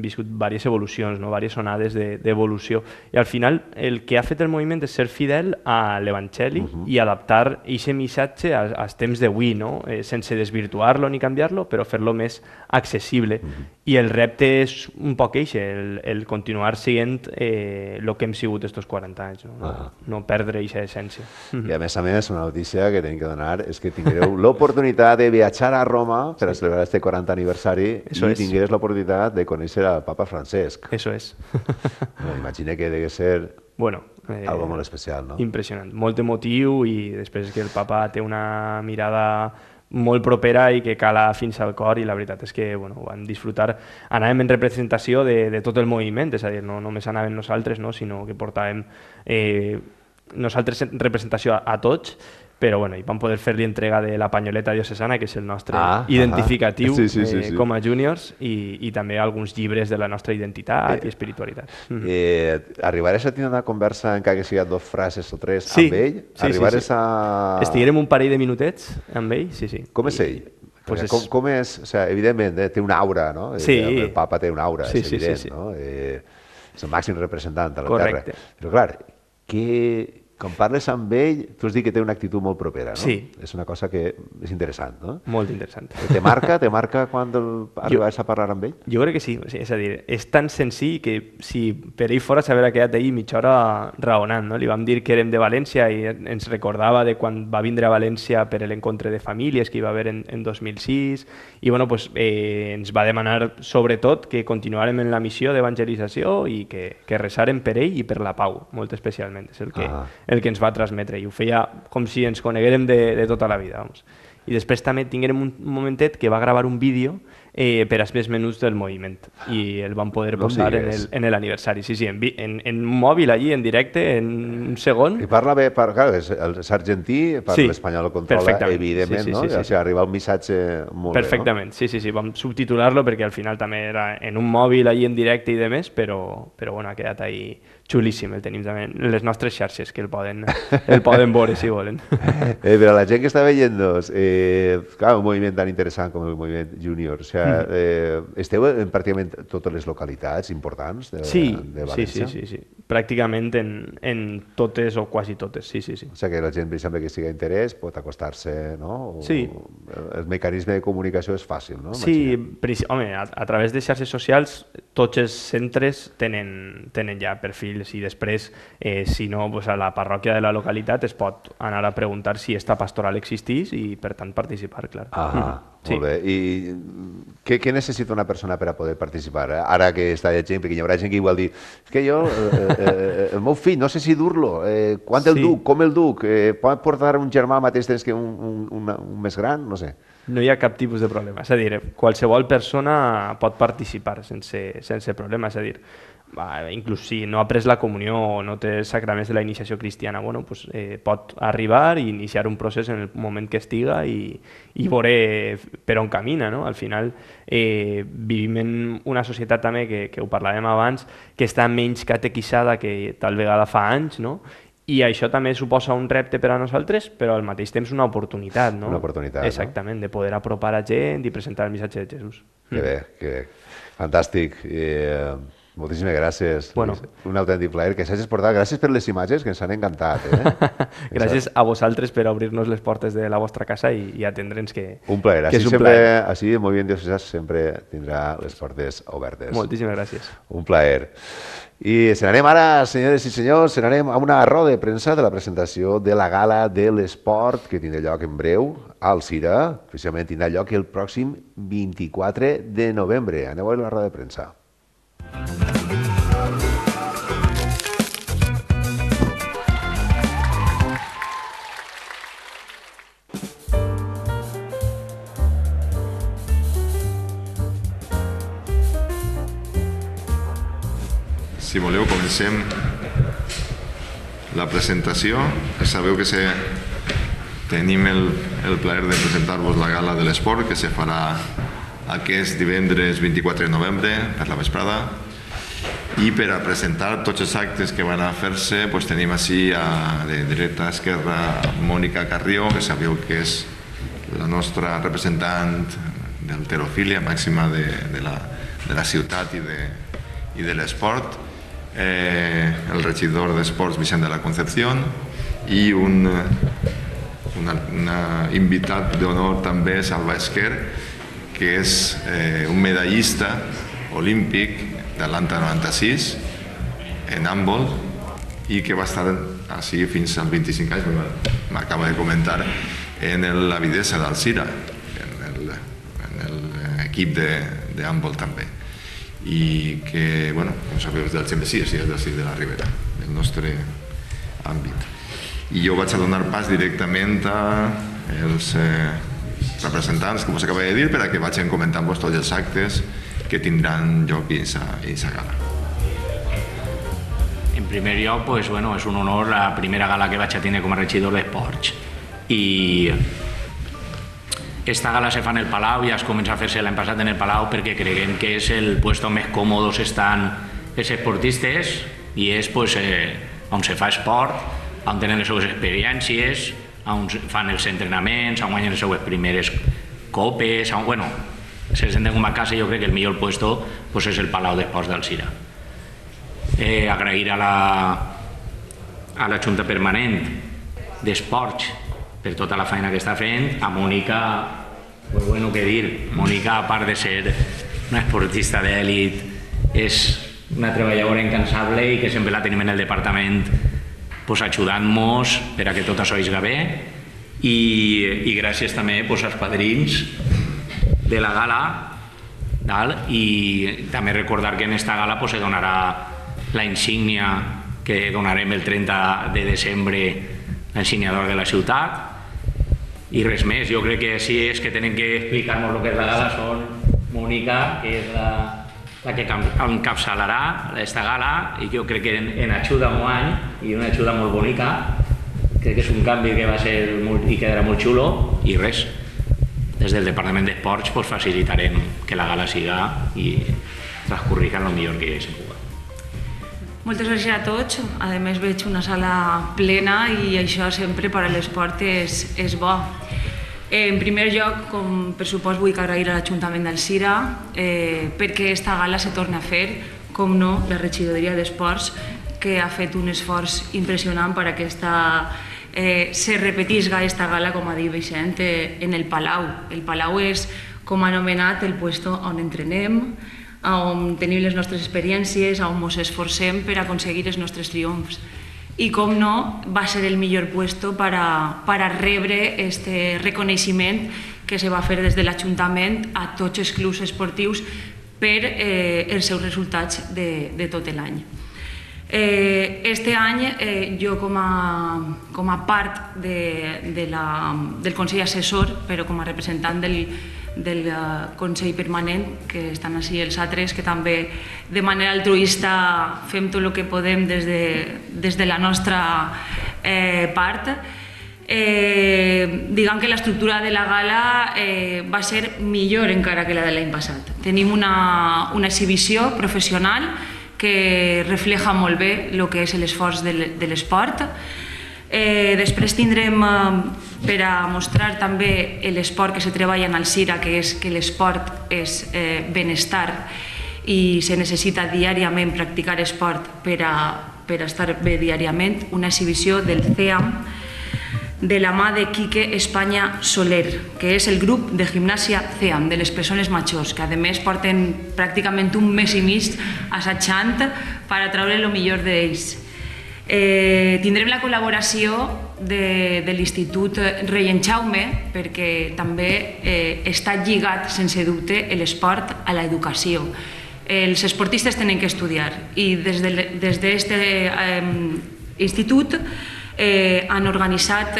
viscut diverses evolucions, diverses onades d'evolució. I al final el que ha fet el moviment és ser fidel a l'Evangeli i adaptar aquest missatge als temps d'avui, sense desvirtuar-lo ni canviar-lo, però fer-lo més accessible. I el repte és un poc el continuar sent el que hem sigut estos 40 anys, no perdre aquesta essència. I a més, una notícia que tenim que donar és que tingueu l'oportunitat de viatjar a Roma per a celebrar este 40 aniversari i tingués l'oportunitat de conèixer al papa Francesc. Eso és. Imagina que deve ser algo molt especial, no? Impressionant, molt emotiu i després que el papa té una mirada molt propera i que cala fins al cor i la veritat és que ho vam disfrutar. Anàvem en representació de tot el moviment, és a dir, no només anàvem nosaltres, sinó que portàvem nosaltres representació a tots, però bueno, hi vam poder fer-li entrega de la panyoleta diocesana, que és el nostre identificatiu com a júniors, i també alguns llibres de la nostra identitat i espiritualitat. Arribaràs a tenir una conversa, encara que sigui 2 frases o 3, amb ell? Arribaràs a... Estiguerem un parell de minutets amb ell, sí. Com és ell? Com és? Evidentment, té una aura, no? El papa té una aura, és evident, no? És el màxim representant de la Terra. Però clar, quan parles amb ell, tu has dit que té una actitud molt propera, no? Sí. És una cosa que és interessant, no? Molt interessant. Te marca quan arribes a parlar amb ell? Jo crec que sí, és a dir, és tan senzill que si per ell fora s'haver quedat ahir mitja hora raonant, no? Li vam dir que érem de València i ens recordava de quan va vindre a València per l'encontre de famílies que hi va haver en 2006 i bueno, pues, ens va demanar sobretot que continuarem en la missió d'evangelització i que resarem per ell i per la pau, molt especialment. És el que ens va transmetre i ho feia com si ens coneguérem de tota la vida. I després també tinguérem un momentet que va gravar un vídeo per als més menuts del moviment i el vam poder posar en l'aniversari. Sí, en un mòbil allí, en directe, en un segon. I parla bé, clar, és argentí, parla l'espanyol, el controla, evidentment, no? O sigui, arriba un missatge molt bé, no? Perfectament, sí, vam subtitular-lo perquè al final també era en un mòbil allí en directe i de més, però bueno, ha quedat ahí xulíssim, el tenim també en les nostres xarxes, que el poden veure si volen. Però la gent que està veient-nos, clar, un moviment tan interessant com el moviment júnior, o sigui, esteu en pràcticament totes les localitats importants de València? Sí. Pràcticament en totes o quasi totes, sí. O sigui que la gent, per exemple, que sigui interès, pot acostar-se, no? Sí. El mecanisme de comunicació és fàcil, no? Sí, home, a través de xarxes socials tots els centres tenen ja perfils i després, si no, a la parròquia de la localitat es pot anar a preguntar si esta pastoral existís i, per tant, participar, clar. Molt bé. I què necessita una persona per a poder participar? Ara que està de gent, perquè hi haurà gent que igual dir és que jo, el meu fill, no sé si dur-lo, quan el duc, com el duc, pot portar un germà al mateix temps que un més gran, no sé. No hi ha cap tipus de problema, és a dir, qualsevol persona pot participar sense problema, és a dir, inclús si no ha pres la comunió o no té els sacraments de la iniciació cristiana, pot arribar i iniciar un procés en el moment que estiga i veure per on camina. Al final vivim en una societat també, que ho parlàvem abans, que està menys catequisada que tal vegada fa anys, i això també suposa un repte per a nosaltres, però al mateix temps una oportunitat. Una oportunitat, exactament, de poder apropar a gent i presentar el missatge de Jesús. Que bé. Fantàstic. Moltíssimes gràcies. Un autèntic plaer que s'hagis portat. Gràcies per les imatges, que ens han encantat. Gràcies a vosaltres per obrir-nos les portes de la vostra casa i atendre'ns, que un plaer. Així el Moviment Diocesà sempre tindrà les portes obertes. Moltíssimes gràcies. Un plaer. I se n'anem ara, senyores i senyors, se n'anem a una roda de premsa de la presentació de la Gala de l'Esport, que tindrà lloc en breu al Cira. Precisament tindrà lloc el pròxim 24 de novembre. Aneu a veure la roda de premsa. Si voleu, comencem la presentació. Sabeu que tenim el plaer de presentar-vos la Gala de l'Esport, que se farà aquest divendres 24 de novembre per la vesprada. I per a presentar tots els actes que van a fer-se, tenim així de dreta a esquerra Mònica Carrió, que sabeu que és la nostra representant d'halterofília màxima de la ciutat i de l'esport, el regidor d'Esports Vicent de la Concepción i un invitat d'honor també, Salva Esquer, que és un medallista olímpic d'Atlanta 96 en handbol i que va estar així fins als 25 anys, m'acaba de comentar, en l'Avidesa d'Alzira, en l'equip de handbol també. I que, com sabeu, és del Xembesí, és del Cid de la Ribera, el nostre àmbit. I jo vaig a donar pas directament als representants, com us acabo de dir, per a que vagin comentant-vos tots els actes que tindran lloc a aquesta gala. En primer lloc, és un honor la primera gala que vaig a tenir com a regidor d'Esports. I esta gala se fa en el Palau, ja es comença a fer-se l'any passat en el Palau perquè creiem que és el puesto més còmodos estan els esportistes i és on se fa esport, on tenen les seues experiències, on fan els entrenaments, on guanyen les seues primeres copes, on, se senten com a casa. Jo crec que el millor puesto és el Palau d'Esports d'Alzira. Agrair a la Junta Permanent d'Esports per tota la feina que està fent, a Mònica, què dir, Mònica, a part de ser una esportista d'èlit, és una treballadora incansable i que sempre la tenim en el departament ajudant-nos per a que tot això isga bé, i gràcies també als padrins de la gala, i també recordar que en esta gala se donarà la insígnia que donarem el 30 de desembre, la insígnia d'or de la ciutat, i res més. Jo crec que sí és que tenen que explicar-nos el que és la gala són Mònica, que és la que encapçalarà aquesta gala, i jo crec que en ajuda un any, i una ajuda molt bonica, crec que és un canvi que va ser i quedarà molt xulo, i res, des del Departament d'Esports facilitarem que la gala siga i transcorriga el millor que se pugui. Moltes gràcies a tots. A més, veig una sala plena i això sempre per a l'esport és bo. En primer lloc, com per supost, vull agrair a l'Ajuntament d'Alzira perquè aquesta gala se torna a fer, com no, la regidoria d'Esports, que ha fet un esforç impressionant per a que se repetisca aquesta gala, com ha dit Vicent, en el Palau. El Palau és, com ha anomenat, el puesto on entrenem, on tenim les nostres experiències, on ens esforcem per aconseguir els nostres triomfs. I, com no, va ser el millor puesto per a rebre aquest reconeixement que se va fer des de l'Ajuntament a tots els clubs esportius per els seus resultats de tot l'any. Este any, jo com a part del Consell Assessor, però com a representant del Consell Permanent, que estan així els altres, que també de manera altruista fem tot el que podem des de la nostra part. Diguem que l'estructura de la gala va ser millor encara que la de l'any passat. Tenim una exhibició professional que refleja molt bé el que és l'esforç de l'esport. Després tindrem, per a mostrar també l'esport que se treballa en Alzira, que és que l'esport és benestar i se necessita diàriament practicar esport per a estar bé diàriament, una exhibició del CEAM de la mà de Quique Espanya Soler, que és el grup de gimnàsia CEAM, de les persones majors, que a més porten pràcticament un mes i mig assajant per a treure el millor d'ells. Tindrem la col·laboració de l'Institut Rei en Jaume, perquè també està lligat, sense dubte, l'esport a l'educació. Els esportistes tenen que estudiar i des d'aquest institut han organitzat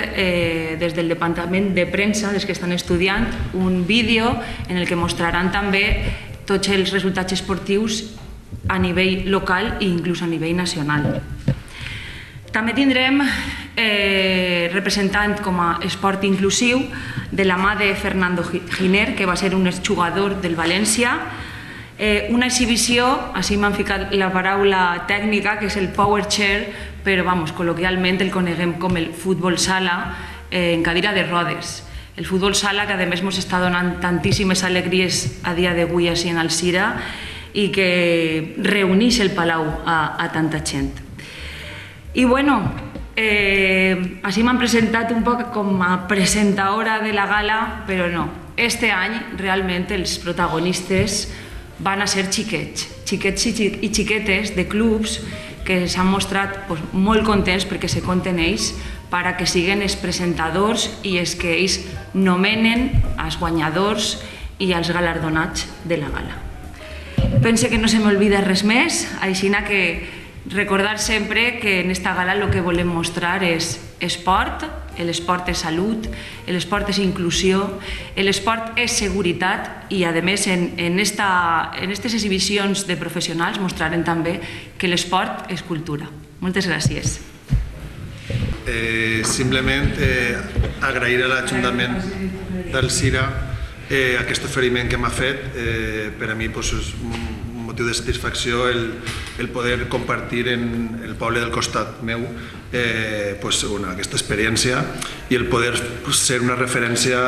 des del departament de premsa, des que estan estudiant, un vídeo en el que mostraran també tots els resultats esportius a nivell local i inclús a nivell nacional. També tindrem representant com a esport inclusiu de la mà de Fernando Giner, que va ser un exjugador del València, una exhibició, així m'han ficat la paraula tècnica, que és el power chair, però col·loquialment el coneguem com el futbol sala en cadira de rodes. El futbol sala que a més ens està donant tantíssimes alegries a dia d'avui així en Alzira i que reuneix el Palau a tanta gent. I així m'han presentat un poc com a presentadora de la gala, però no. Este any realment els protagonistes van a ser xiquets i xiquetes de clubs que s'han mostrat molt contents perquè se compten ells per a que siguin els presentadors i els que ells nomenen els guanyadors i els galardonats de la gala. Pense que no se m'olvida res més, així que Recordar sempre que en esta gala lo que volem mostrar és esport, l'esport és salut, l'esport és inclusió, l'esport és seguretat i, a més, en aquestes exhibicions de professionals mostrarem també que l'esport és cultura. Moltes gràcies. Simplement agrair a l'Ajuntament d'Alzira aquest oferiment que m'ha fet. Per a mi és un motiu de satisfacció el poder compartir en el poble del costat meu aquesta experiència i el poder ser una referència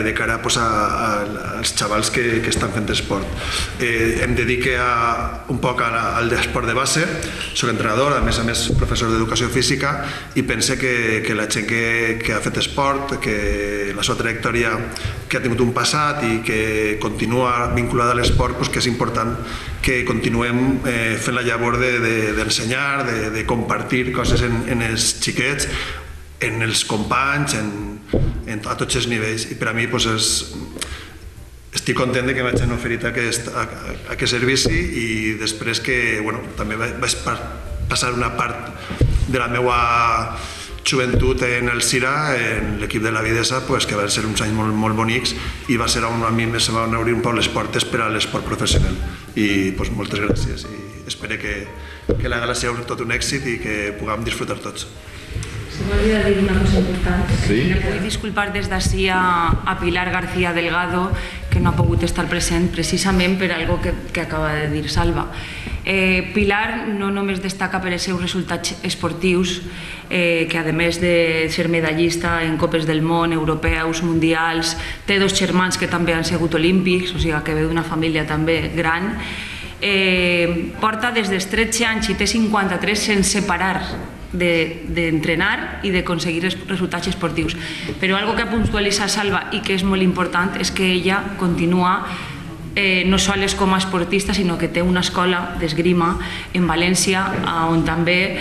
de cara als xavals que estan fent esport. Em dedique un poc al esport de base, soc entrenador, a més professor d'educació física, i pense que la gent que ha fet esport, que la seva trajectòria que ha tingut un passat i que continua vinculada a l'esport, que és important que continuem fent la llavor d'ensenyar, de compartir coses en els xiquets, en els companys, a tots els nivells. I per a mi estic content que m'hagin oferit aquest servici i després que també vaig passar una part de la meva joventut en Alzira, en l'equip de la Videsa, que van ser uns anys molt bonics i va ser on a mi se van obrir un poc les portes per a l'esport professional. I moltes gràcies i espero que la gala sigui tot un èxit i que puguem disfrutar tots. Se m'ha dir una cosa important. Me vull disculpar des d'ací a Pilar García Delgado, que no ha pogut estar present precisament per algo que acaba de dir Salva. Pilar no només destaca per els seus resultats esportius, que a més de ser medallista en Copes del Món, europeus, mundials, té dos germans que també han sigut olímpics, o sigui que ve d'una família també gran. Porta des dels 13 anys i té 53 sense parar d'entrenar i d'aconseguir resultats esportius. Però algo que ha puntualitzat Salva i que és molt important és que ella continua no sols com a esportista, sinó que té una escola d'esgrima en València on també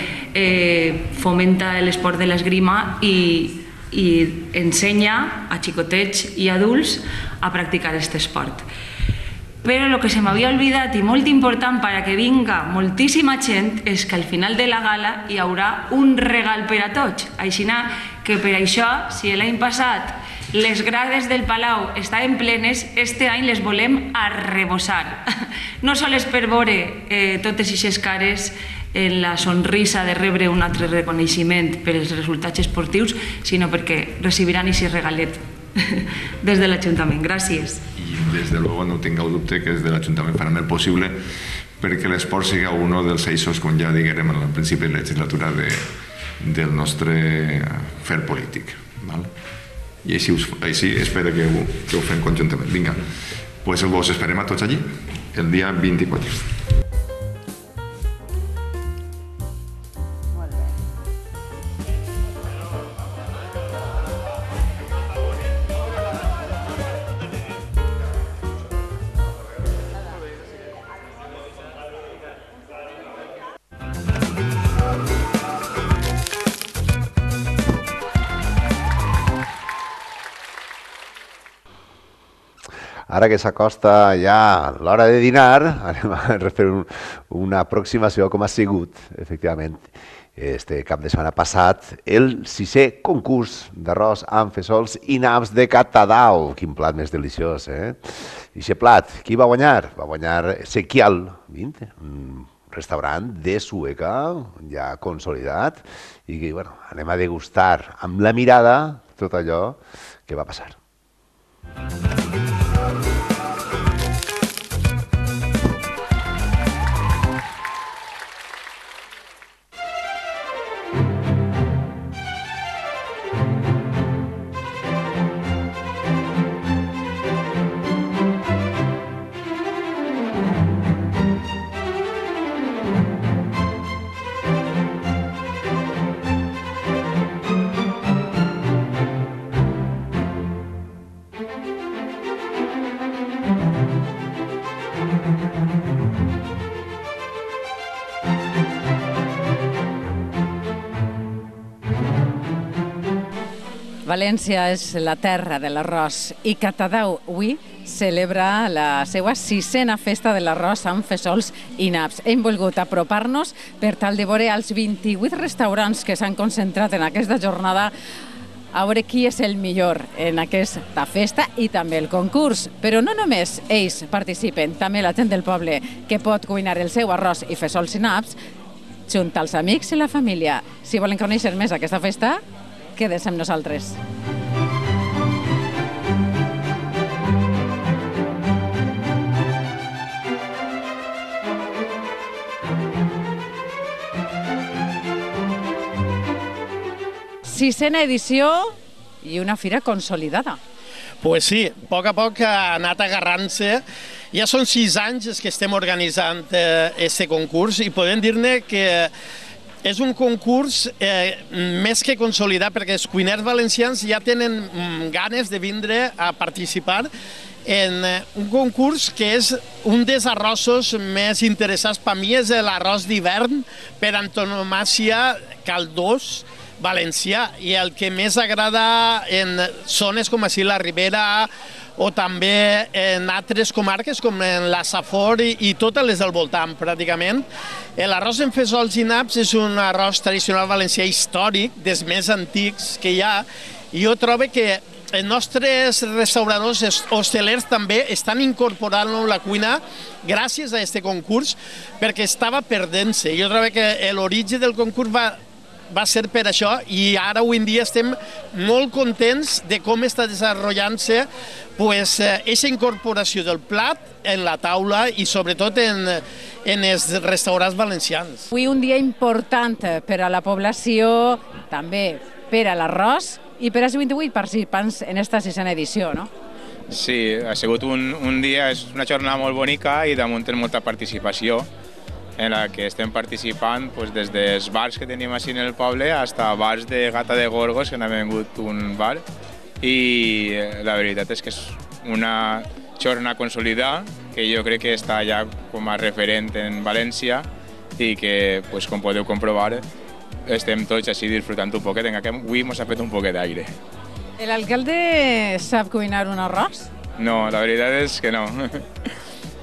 fomenta l'esport de l'esgrima i ensenya a xicotets i adults a practicar aquest esport. Però el que se m'havia oblidat i molt important perquè vinga moltíssima gent és que al final de la gala hi haurà un regal per a tots. Així que per això, si l'any passat les grades del Palau estaven plenes, este any les volem arrebossar. No sols per veure totes aquestes cares en la sonrisa de rebre un altre reconeixement per als resultats esportius, sinó perquè recibiran aquest regalet des de l'Ajuntament. Gràcies. I des de luego no tingueu dubte que des de l'Ajuntament farem el possible perquè l'esport sigui un dels eixos, com ja diguérem al principi de la legislatura, del nostre fer polític. I així espero que ho fem conjuntament. Vinga, doncs vos esperem a tots allí el dia 24. Ara que s'acosta ja l'hora de dinar, anem a fer una aproximació com ha sigut, efectivament, este cap de setmana passat, el 6è concurs d'arròs amb fesols i naps de Catadau. Quin plat més deliciós, eh? I aquest plat, qui va guanyar? Va guanyar Sequial, un restaurant de Sueca, ja consolidat, i que, bueno, anem a degustar amb la mirada tot allò que va passar. València és la terra de l'arròs i Catadau avui celebra la seva 6a festa de l'arròs amb fesols i naps. Hem volgut apropar-nos per tal de veure els 28 restaurants que s'han concentrat en aquesta jornada a veure qui és el millor en aquesta festa i també el concurs. Però no només ells participen, també la gent del poble que pot cuinar el seu arròs i fesols i naps junt als amics i la família. Si volen conèixer més aquesta festa, quedeu amb nosaltres. Sisena edició i una fira consolidada. Pues sí, a poc ha anat agarrant-se. Ja són 6 anys que estem organitzant aquest concurs i podem dir-ne que és un concurs més que consolidat perquè els cuiners valencians ja tenen ganes de vindre a participar en un concurs que és un dels arrossos més interessants. Per mi és l'arròs d'hivern per antonomàsia caldós valencià i el que més agrada en zones com així la Ribera o també en altres comarques com en la Safor i totes les del voltant pràcticament. L'arròs en fesols i naps és un arròs tradicional valencià històric, dels més antics que hi ha, i jo trobo que els nostres restauradors hostelers també estan incorporant la cuina gràcies a aquest concurs perquè estava perdent-se. Jo trobo que l'origen del concurs va ser per això i ara avui en dia estem molt contents de com està desenvolupant-se aquesta incorporació del plat en la taula i sobretot en els restaurants valencians. Avui un dia important per a la població, també per a l'arròs i per als 28 participants en aquesta 6a edició, no? Sí, ha sigut un dia, és una jornada molt bonica i damunt té molta participació en la que estem participant des dels bars que tenim així en el poble fins a bars de Gata de Gorgos, que n'ha vingut un bar, i la veritat és que és una jornada consolidada que jo crec que està ja com a referent en València i que, com podeu comprovar, estem tots així disfrutant un poquet, en aquest avui ens ha fet un poquet d'aire. L'alcalde sap cuinar un arròs? No, la veritat és que no.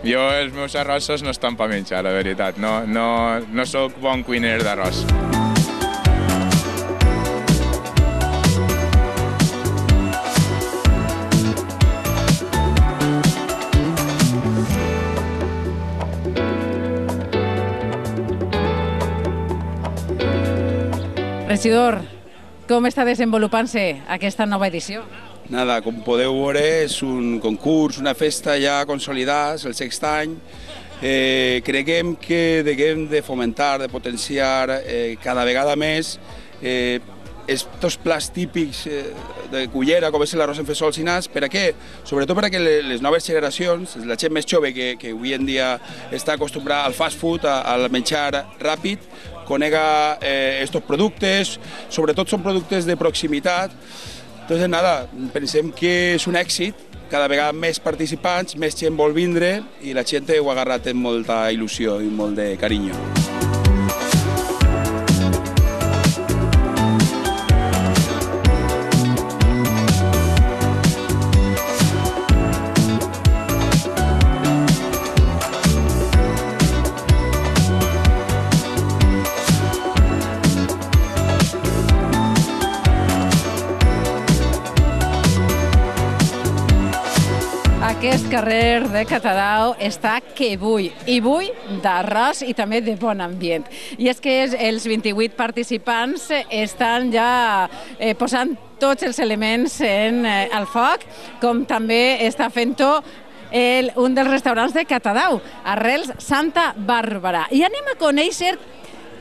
Jo, els meus arrossos no estan per menjar, la veritat. No sóc bon cuiner d'arròs. Regidor, com està desenvolupant-se aquesta nova edició? Nada, com podeu veure, és un concurs, una festa ja consolidada, és el 6è any. Creiem que hem de fomentar, de potenciar cada vegada més estos plats típics de cullera, com és l'arròs en fesols i naps. Per a què? Sobretot perquè les noves generacions, la gent més jove que avui en dia està acostumbrada al fast food, al menjar ràpid, conega estos productes, sobretot són productes de proximitat. Entonces, nada, pensem que és un èxit, cada vegada més participants, més gent vol vindre i la gent ho ha agarrat amb molta il·lusió i molt de carinyo. Aquest carrer de Catadau està que bull, i bull d'arròs i també de bon ambient. I és que els 28 participants estan ja posant tots els elements al foc, com també està fent-ho un dels restaurants de Catadau, Arrels Santa Bàrbara. I anem a conèixer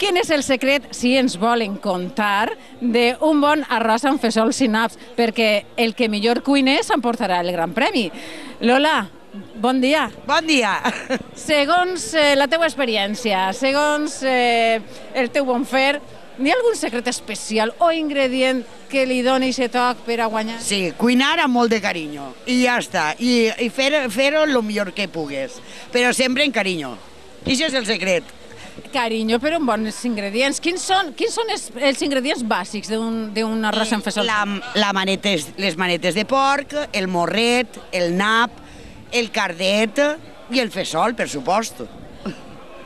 quin és el secret, si ens volen contar, d'un bon arròs amb fesols i naps, perquè el que millor cuiner s'emportarà el gran premi. Lola, bon dia. Bon dia. Segons la teua experiència, segons el teu bon fer, hi ha algun secret especial o ingredient que li doni aquest toc per a guanyar? Sí, cuinar amb molt de carinyo, i ja està, i fer-ho el millor que pugues, però sempre en carinyo. I això és el secret. Carinyo, però amb bons ingredients. Quins són els ingredients bàsics d'un arròs amb fesol? Les manetes de porc, el morret, el nap, el cardet i el fesol, per supost.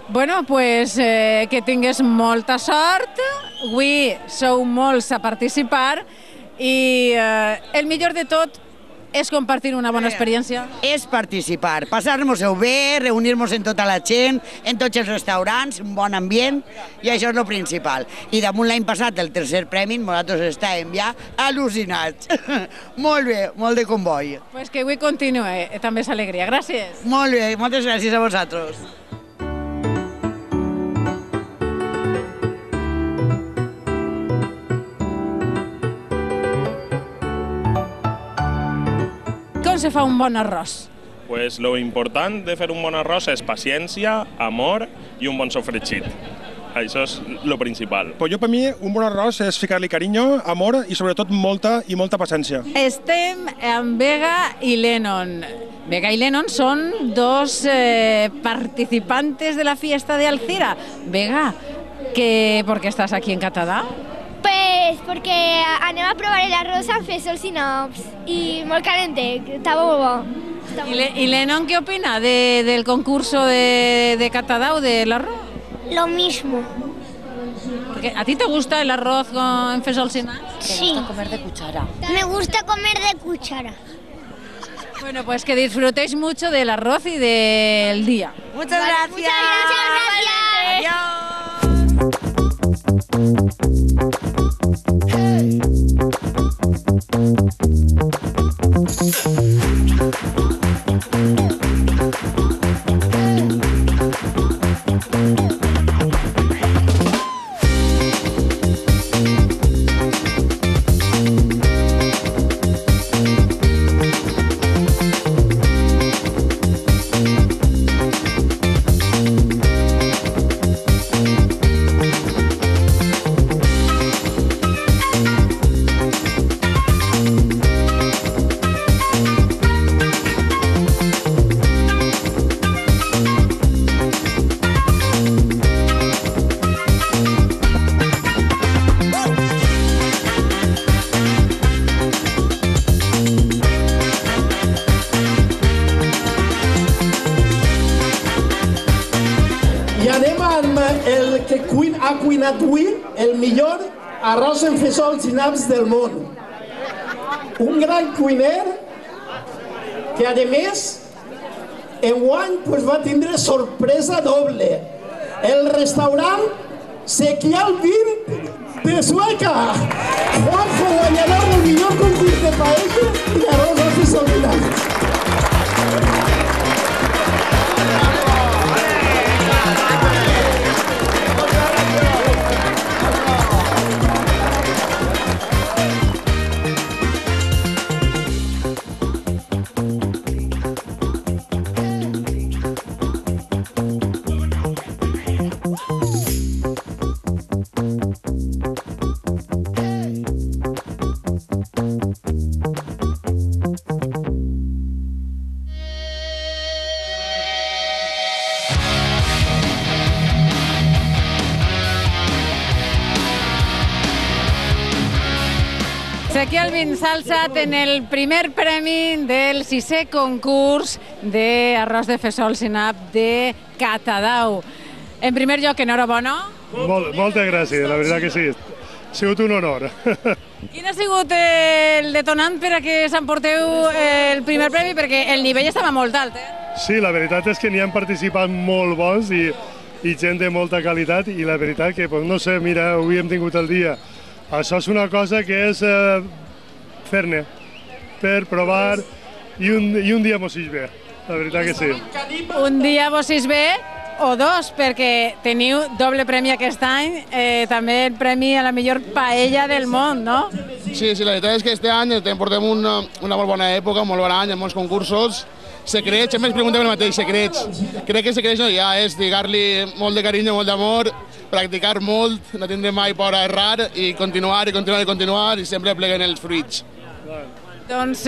Bueno, pues que tingues molta sort. Avui sou molts a participar i el millor de tot és compartir una bona experiència. És participar, passar-nos-ho bé, reunir-nos amb tota la gent, en tots els restaurants, un bon ambient, i això és el principal. I damunt l'any passat, el tercer premi, nosaltres estàvem ja al·lucinats. Molt bé, molt de comboi. Pues que avui continue, també és alegria. Gràcies. Molt bé, moltes gràcies a vosaltres. Com se fa un bon arròs? Pues lo important de fer un bon arròs és paciència, amor i un bon sofregit. Això és lo principal. Pues jo, per mi, un bon arròs és ficar-li carinyo, amor i sobretot molta paciència. Estem amb Vega i Lennon. Vega y Lennon son dos participantes de la fiesta de Alcira. Vega, ¿por qué estás aquí en Catadau? Pues porque anem a provar el arroz amb fesols i naps i molt calente, està molt bo. ¿Y Lennon qué opina del concurso de Catadau del arroz? Lo mismo. Porque ¿a ti te gusta el arroz con fesols y naps? Sí. ¿Te gusta comer de cuchara? Me gusta comer de cuchara. Bueno, pues que disfrutéis mucho del arroz y del día. Muchas gracias. Muchas gracias. Ha cuinat avui el millor arròs amb fesols i naps del món. Un gran cuiner que, a més, enguany va tindre sorpresa doble. El restaurant Sequial 20 de Sueca. Juanjo, guanyador del millor concurs de paella i arròs amb fesols i naps. Sequial Vins s'ha alçat en el primer premi del 6è concurs d'arròs de fesols i nap de Catadau. En primer lloc, enhorabona. Moltes gràcies, la veritat que sí. Ha sigut un honor. Quin ha sigut el detonant per a que s'emporteu el primer premi? Perquè el nivell estava molt alt, Sí, la veritat és que n'hi han participat molt bons i gent de molta qualitat i la veritat que, no sé, mira, avui hem tingut el dia. Això és una cosa que és fer-ne, per provar i un dia mos ix bé, la veritat que sí. Un dia vos ix bé o dos, perquè teniu doble premi aquest any, també el premi a la millor paella del món, no? Sí, la veritat és que aquest any portem una molt bona època, un molt bon any, amb molts concursos, secrets, sempre ens preguntem el mateix, secrets. Crec que secrets no hi ha, és lligar-li molt de carinyo, molt d'amor, practicar molt, no tindre mai por a errar i continuar i sempre pleguen els fruits. Doncs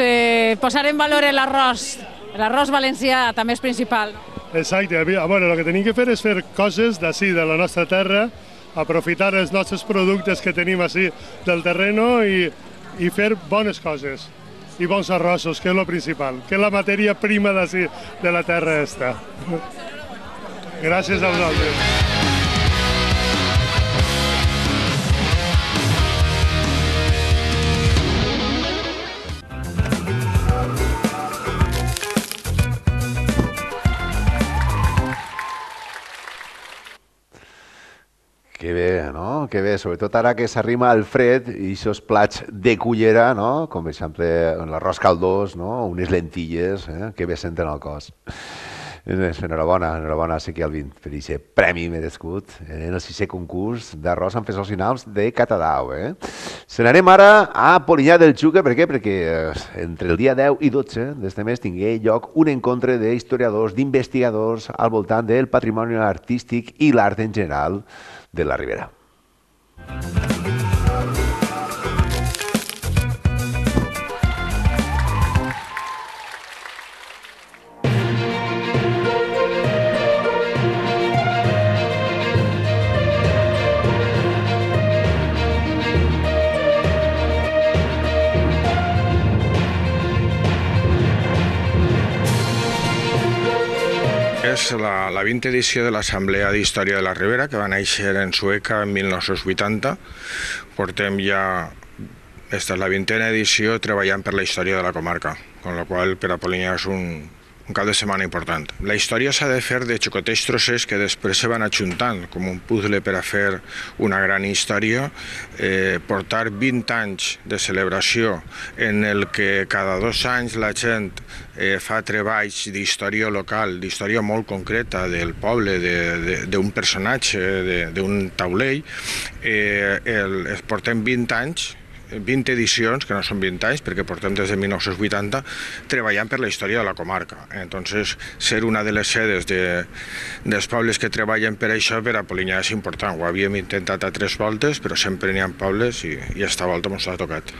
posar en valor l'arròs valencià també és principal. Exacte. Bueno, el que tenim que fer és fer coses d'ací, de la nostra terra, aprofitar els nostres productes que tenim així del terreno i fer bones coses i bons arrossos, que és el principal, que és la matèria prima d'ací, de la terra esta. Gràcies a vosaltres. Que bé, no? Que bé, sobretot ara que s'arrima el fred i aquests plats de cullera, no? Com per exemple l'arròs caldós, no? Unes lentilles, que bé senten al cos. Enhorabona, Ezequiel Alvin, per aquest premi merescut en el 6è concurs d'arròs amb fesols i naus de Catadau. Se n'anem ara a Polinyà del Xúquer, per què? Perquè entre el dia 10 i 12 d'este mes tingué lloc un encontre d'historiadors, d'investigadors al voltant del patrimoni artístic i l'art en general de la Ribera. És la 20ª edició de l'Assemblea d'Història de la Ribera, que va néixer en Sueca en 1980. Portem ja, esta és la 20ª edició, treballant per la història de la comarca, amb la qual per a Polinyà és un cap de setmana important. La història s'ha de fer de xicotets trossers que després se van ajuntant, com un puzzle per a fer una gran història. Portar 20 anys de celebració en el que cada 2 anys la gent fa treballs d'història local, d'història molt concreta del poble, d'un personatge, d'un taulell. Portem 20 anys, 20 edicions, que no són 20 anys, perquè portem des de 1980 treballant per la història de la comarca. Entonces, ser una de les sedes dels pobles que treballen per això, per a Polinyà és important. Ho havíem intentat a 3 voltes, però sempre n'hi ha pobles i esta volta ens ha tocat.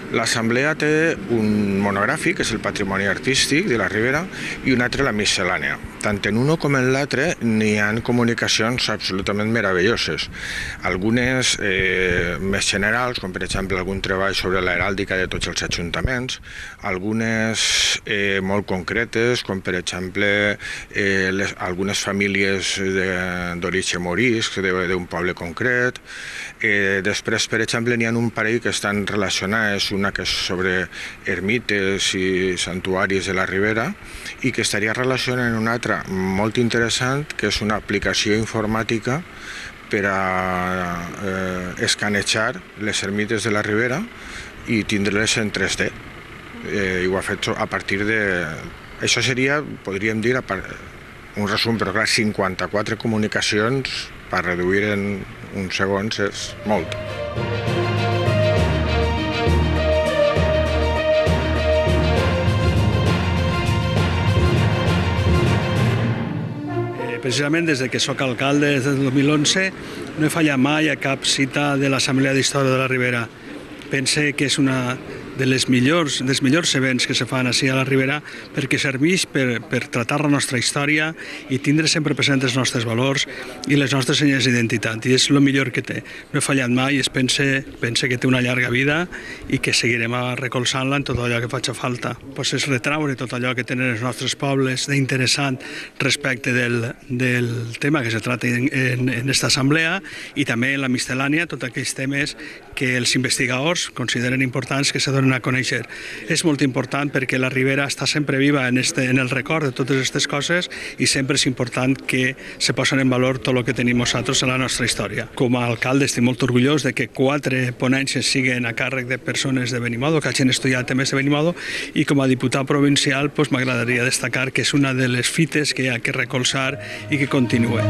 L'assemblea té un monogràfic, que és el patrimoni artístic de la Ribera, i un altre, la miscel·lània. Tant en un com en l'altre n'hi ha comunicacions absolutament meravelloses. Algunes més generals, com per exemple algun treball sobre l'heràldica de tots els ajuntaments, algunes molt concretes, com per exemple algunes famílies d'origen morisc d'un poble concret. Després, per exemple, n'hi ha un parell que estan relacionats, una que és sobre ermites i santuaris de la Ribera, i que estaria relacionada amb una altra molt interessant, que és una aplicació informàtica per a escanejar les ermites de la Ribera i tindre-les en 3D. I ho ha fet a partir de... Això seria, podríem dir, un resum, però clar, 54 comunicacions per reduir en uns segons és molt. Precisament des que soc alcalde, des del 2011, no he fallat mai a cap cita de l'Assemblea d'Història de la Ribera. Pense que és una dels millors events que se fan així a la Ribera, perquè serveix per tratar la nostra història i tindre sempre presents els nostres valors i les nostres senyes d'identitat, i és el millor que té. No he fallat mai i pense que té una llarga vida i que seguirem recolzant-la en tot allò que faci falta. És retraure tot allò que tenen els nostres pobles d'interessant respecte del tema que se trata en aquesta assemblea, i també en la miscel·lània tots aquells temes que els investigadors consideren importants que se donen a conèixer. És molt important perquè la Ribera està sempre viva en el record de totes aquestes coses, i sempre és important que se posen en valor tot el que tenim nosaltres en la nostra història. Com a alcalde estic molt orgullós de que 4 ponències siguin a càrrec de persones de Benimodo, que hagin estudiat temes de Benimodo, i com a diputat provincial m'agradaria destacar que és una de les fites que hi ha que recolzar i que continua.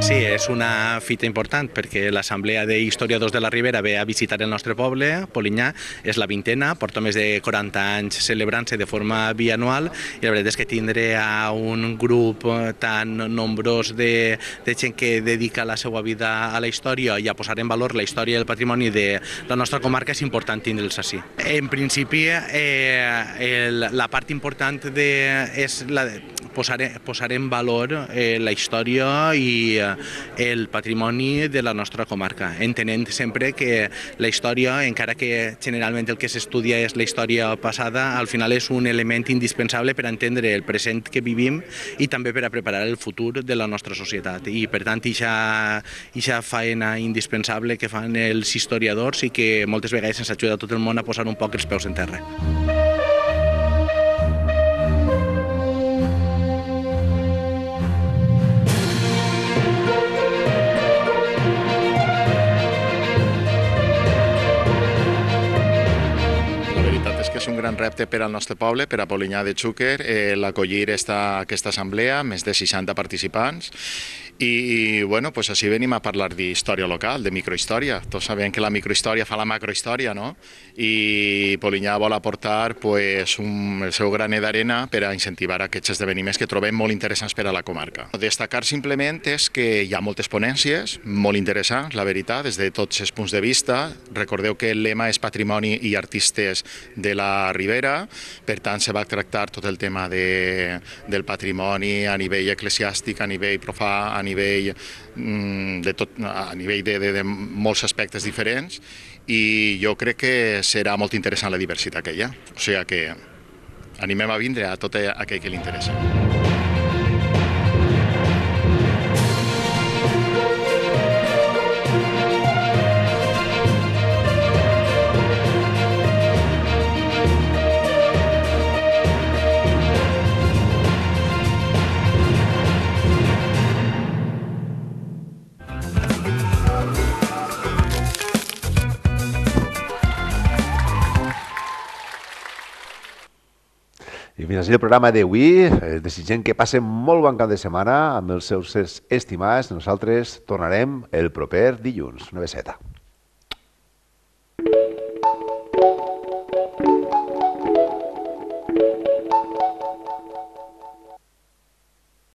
Sí, és una fita important perquè l'Assemblea d'Historiadors de la Ribera ve a visitar el nostre poble, Polinyà, és la 20a, porta més de 40 anys celebrant-se de forma bianual i la veritat és que tindre a un grup tan nombrós de gent que dedica la seva vida a la història i a posar en valor la història i el patrimoni de la nostra comarca és important tindre'ls així. En principi, la part important és posar en valor la història i el patrimoni de la nostra comarca, entenent sempre que la història, encara que generalment el que s'estudia és la història passada, al final és un element indispensable per entendre el present que vivim i també per a preparar el futur de la nostra societat. I per tant, aquesta feina indispensable que fan els historiadors i que moltes vegades ens ajuda a tot el món a posar un poc els peus en terra. És un gran repte per al nostre poble, per a Polinyà de Xúquer, l'acollir aquesta assemblea, més de 60 participants. I bueno, pues així venim a parlar d'història local, de microhistòria. Tots sabem que la microhistòria fa la macrohistòria, no? I Polinyà vol aportar pues, el seu granet d'arena per a incentivar aquests esdeveniments que trobem molt interessants per a la comarca. Destacar simplement és que hi ha moltes ponències molt interessants, la veritat, des de tots els punts de vista. Recordeu que el lema és Patrimoni i Artistes de la Ribera, per tant se va tractar tot el tema del patrimoni a nivell eclesiàstic, a nivell profà, a nivell de molts aspectes diferents, i jo crec que serà molt interessant la diversitat que hi ha. O sigui que animem a vindre a tot aquell que li interessa. I fins així el programa d'avui. Desitgem que passen molt bon cap de setmana amb els seus estimats. Nosaltres tornarem el proper dilluns. Una beseta.